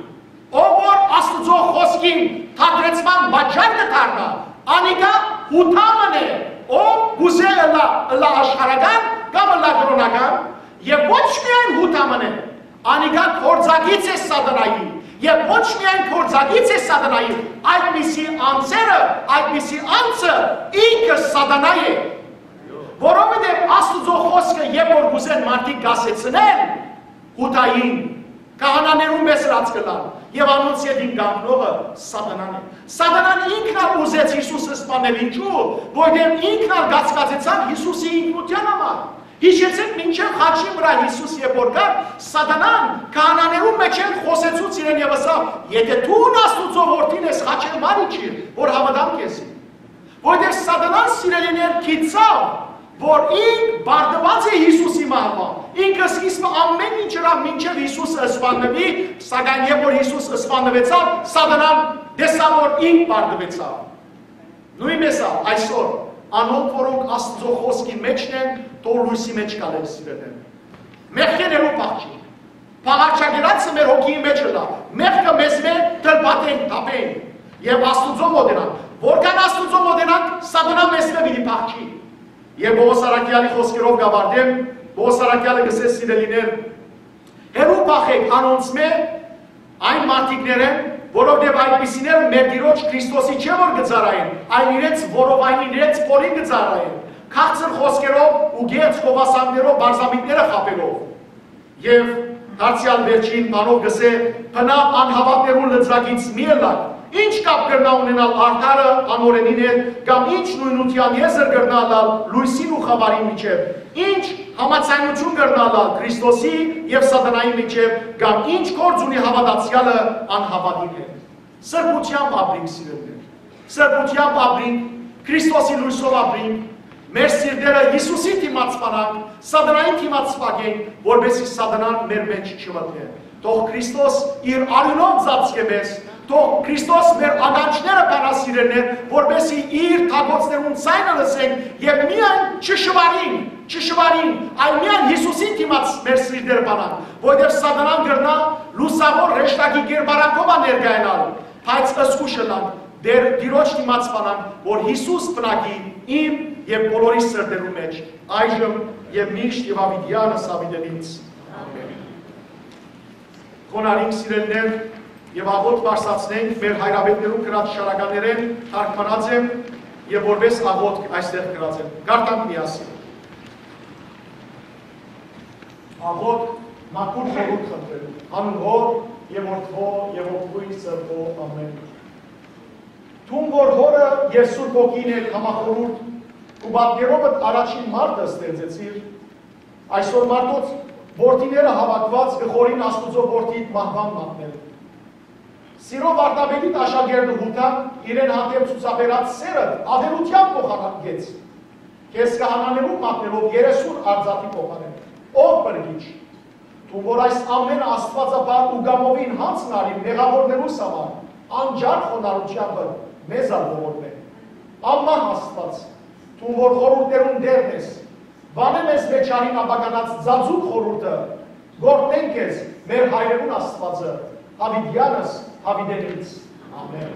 ով որ Աստուծոյ խօսքին թատրեցման պատճառ կը դառնայ, անիկա յութամն է, ով կ'ուզէ ըլլայ, ըլլայ աշխարհական կամ ըլլայ կրօնական, եւ ոչ միայն յութամն է, անիկա գործակից է սատանայի, եւ ոչ միայն գործակից է սատանայի, այդպիսի անձերը, այդպիսի անձը ինքը սատանայ է, որովհետեւ Աստուծոյ խօսքը, երբ որ կ'ուզեն մարդիկ կասեցնեն, յութային քահանաներուն մէս ըլած կ'ըլլան, եւ անոնց ետին կանգնողը սատանան է։ Սատանան ինքն ալ ուզեց Յիսուս սպանել, ինչու՞, որովհետեւ ինքն ալ կասկածեցաւ Յիսուսի ինքնութեան համար։ Յիշեցէք, մինչեւ խաչին վրայ Յիսուս երբ որ կար, սատանան քահանաներուն մէջէն խօսեցուց իրեն եւ ըսաւ. «Եթէ դուն Աստուծոյ որդին ես, խաչէն վար իջիր, որ հաւատամ քեզի»։ Որովհետեւ սատանան, սիրելիներ, գիտցաւ, որ ինք պարտուած է Յիսուսի մահուան։ Ինքը սկիզբը ամէն ինչ ըրաւ մինչեւ Յիսուս սպաննուի, սակայն երբ որ Յիսուս սպաննուեցաւ, սատանան տեսաւ, որ ինք պարտուեցաւ։ Նոյնպէս ալ այսօր, անոնք, որոնք Աստուծոյ խօսքին մէջն են, թող լոյսի մէջ գալեն, սիրելիներ։ Մեղքէն հեռու փախչինք։ Փաղարչագերացը մեր հոգիի մէջ ըլլայ, մեղքը մեզմէ դրբատենք, թափենք եւ Աստուծոյ մօտենանք։ Որքան Աստուծոյ մօտենանք, սատանան մեզմէ պիտի փախչի։ Եւ Պողոս առաքեալի խօսքերով կ'աւարտեմ, Պողոս առաքեալը կ'ըսէ, սիրելիներ, հեռու փախէք անոնցմէ, այն մարդիկներէն, որովհետեւ այդպիսիները մեր Տիրոջ Քրիստոսի չէ որ կը ծառայեն, այլ իրենց որովայնին, իրենց փորին կը ծառայեն, քաղցր խօսքերով ու կեղծ գովասանքներով պարզամիտները խաբելով։ Եւ դարձեալ վերջին բանով կ'ըսէ. «Բնաւ անհաւատներուն լծակից մի ըլլաք։ Ի՞նչ կապ կրնայ ունենալ արդարը անօրէնին հետ, կամ ի՞նչ նոյնութեան եզր կրնայ ըլլալ լոյսին ու խաւարին միջեւ։ Ի՞նչ համաձայնութիւն կրնայ ըլլալ Քրիստոսի եւ սատանայի միջեւ, կամ ի՞նչ գործ ունի հաւատացեալը անհաւատին հետ»։ Սրբութեամբ ապրինք, սիրելիներ։ Սրբութեամբ ապրինք, Քրիստոսի լոյսով ապրինք, մեր սիրտերը Յիսուսին դիմաց սպանանք, սատանային դիմաց սպանենք, որպեսզի սատանան մեր մէջ չմտնէ։ Թող Քրիստոս իր արիւնով ծածկէ մեզ, թող Քրիստոս մեր ականջները բանայ, սիրելիներ, որպեսզի իր թակոցներուն ձայնը լսենք եւ միայն չշուարինք, չշուարինք, այլ միայն Յիսուսին դիմաց մեր սիրտերը բանանք, որովհետեւ սատանան կրնայ լուսաւոր հրեշտակի կերպարանքով ալ ներկայանալ, բայց զգոյշ ըլլանք, Տեր Տիրոջ դիմաց սպանանք, որ Յիսուս բնակի իմ եւ բոլորի սրտերու մէջ, այժմ եւ միշտ եւ աւիտեանս աւիտենից։ Ամէն։ Խոնարհինք, սիրելիներ, եւ աղօթք բարձրացնենք մեր հայրապետներուն գրած շարականներէն, թարգմանած եմ եւ որպէս աղօթք այստեղ գրած եմ։ Կարդանք միասին։ Աղօթք, մաքուր խորհուրդ խնդրելու, անուն Հօր եւ Որդւոյ եւ Հոգւոյ Սրբոյ, ամէն։ Դուն որ Հօրը եւ Սուրբ Հոգին հետ համախորհուրդ ու պատկերովդ առաջին մարդը ստեղծեցիր, այսօր մարդոց որդիները հաւաքուած կը խորհին Աստուծոյ որդիդ մահուան մատնել։ Սիրով վարդապետիդ աշակերտը Յուդան իրեն հանդէպ ցուցաբերած սերը ատելութեան փոխանակեց, քեզ քահանաներուն մատնելով երեսուն արծաթի փոխարէն։ Ով փրկիչ, դուն որ այս ամէնը աստուածաբար ու կամովին յանձն առիր մեղաւորներուս համար, անջար խոնարհութեամբդ մեզ ալ ողորմէ։ Անմահ Աստուած, դուն որ խորհուրդներուն Տերն ես, վանէ մեզմէ չարին ապականած ծածուկ խորհուրդը, կ'օրհնենք քեզ, մեր հայրերուն Աստուածը, յաւիտեանս յաւիտենից։ Ամէն։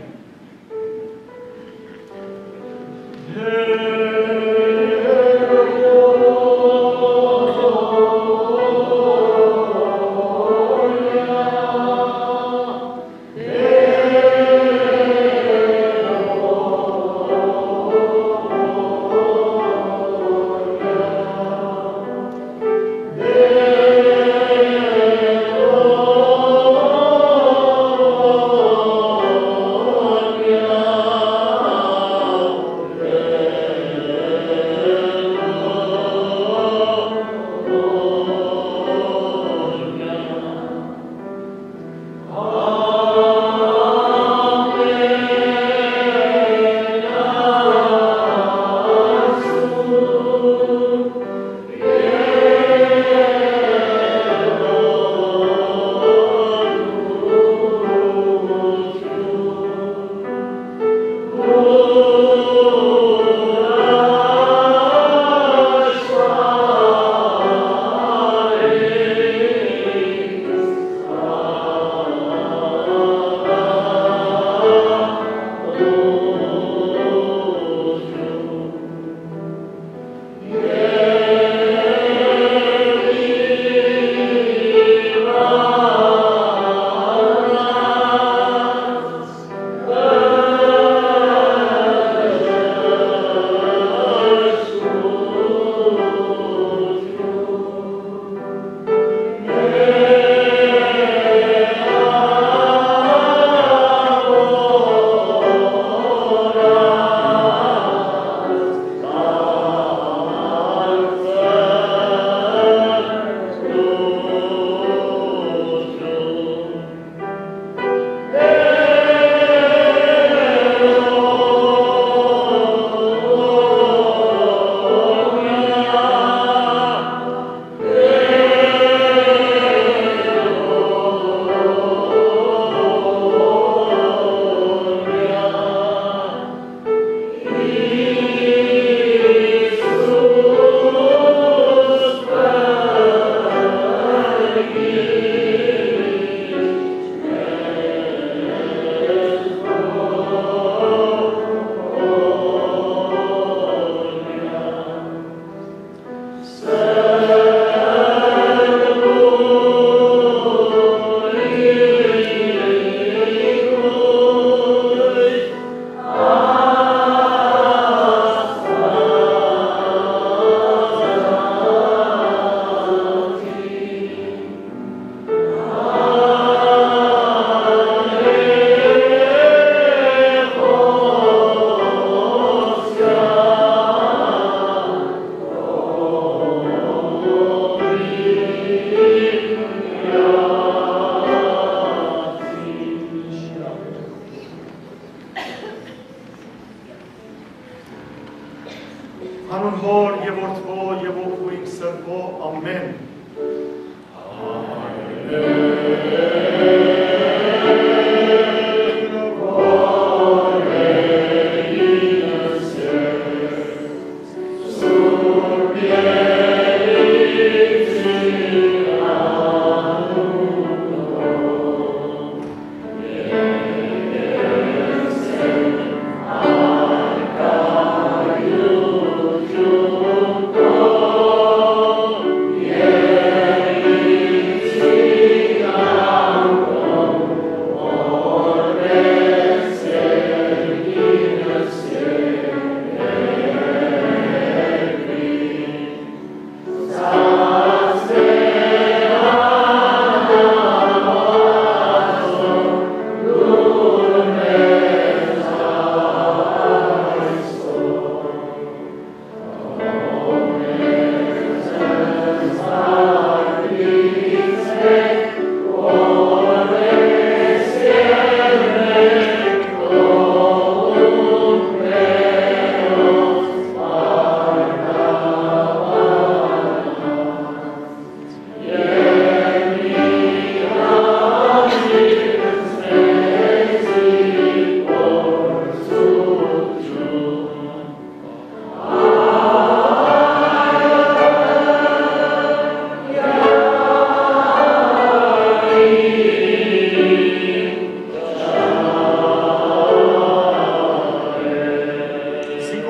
Անուն Հօր եւ Որդւոյ եւ Հոգի Սրբոյ։ Ամէն։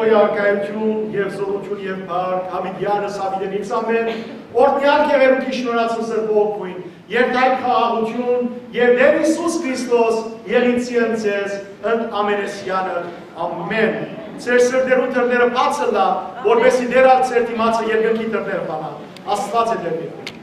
Սիկոյ արքայութիւն եւ զօրութիւն եւ փառք, յաւիտեանս յաւիտենիցամէն, օրհնեալ կեղերու կիշնորացն սրբոյ օգուին, երթայք խաղաղութիւն եւ Տէր Յիսուս Քրիստոս եղինցի ընդ ձեզ, ընդ ամենեսյանը։ Ամէն։ Ձեր սրտերու դռները բաց ըլլայ, որպեսզի Տէր ալ ձեր դիմացը երկնքի դռները բանայ։ Աստուած է Տէր երկնքի։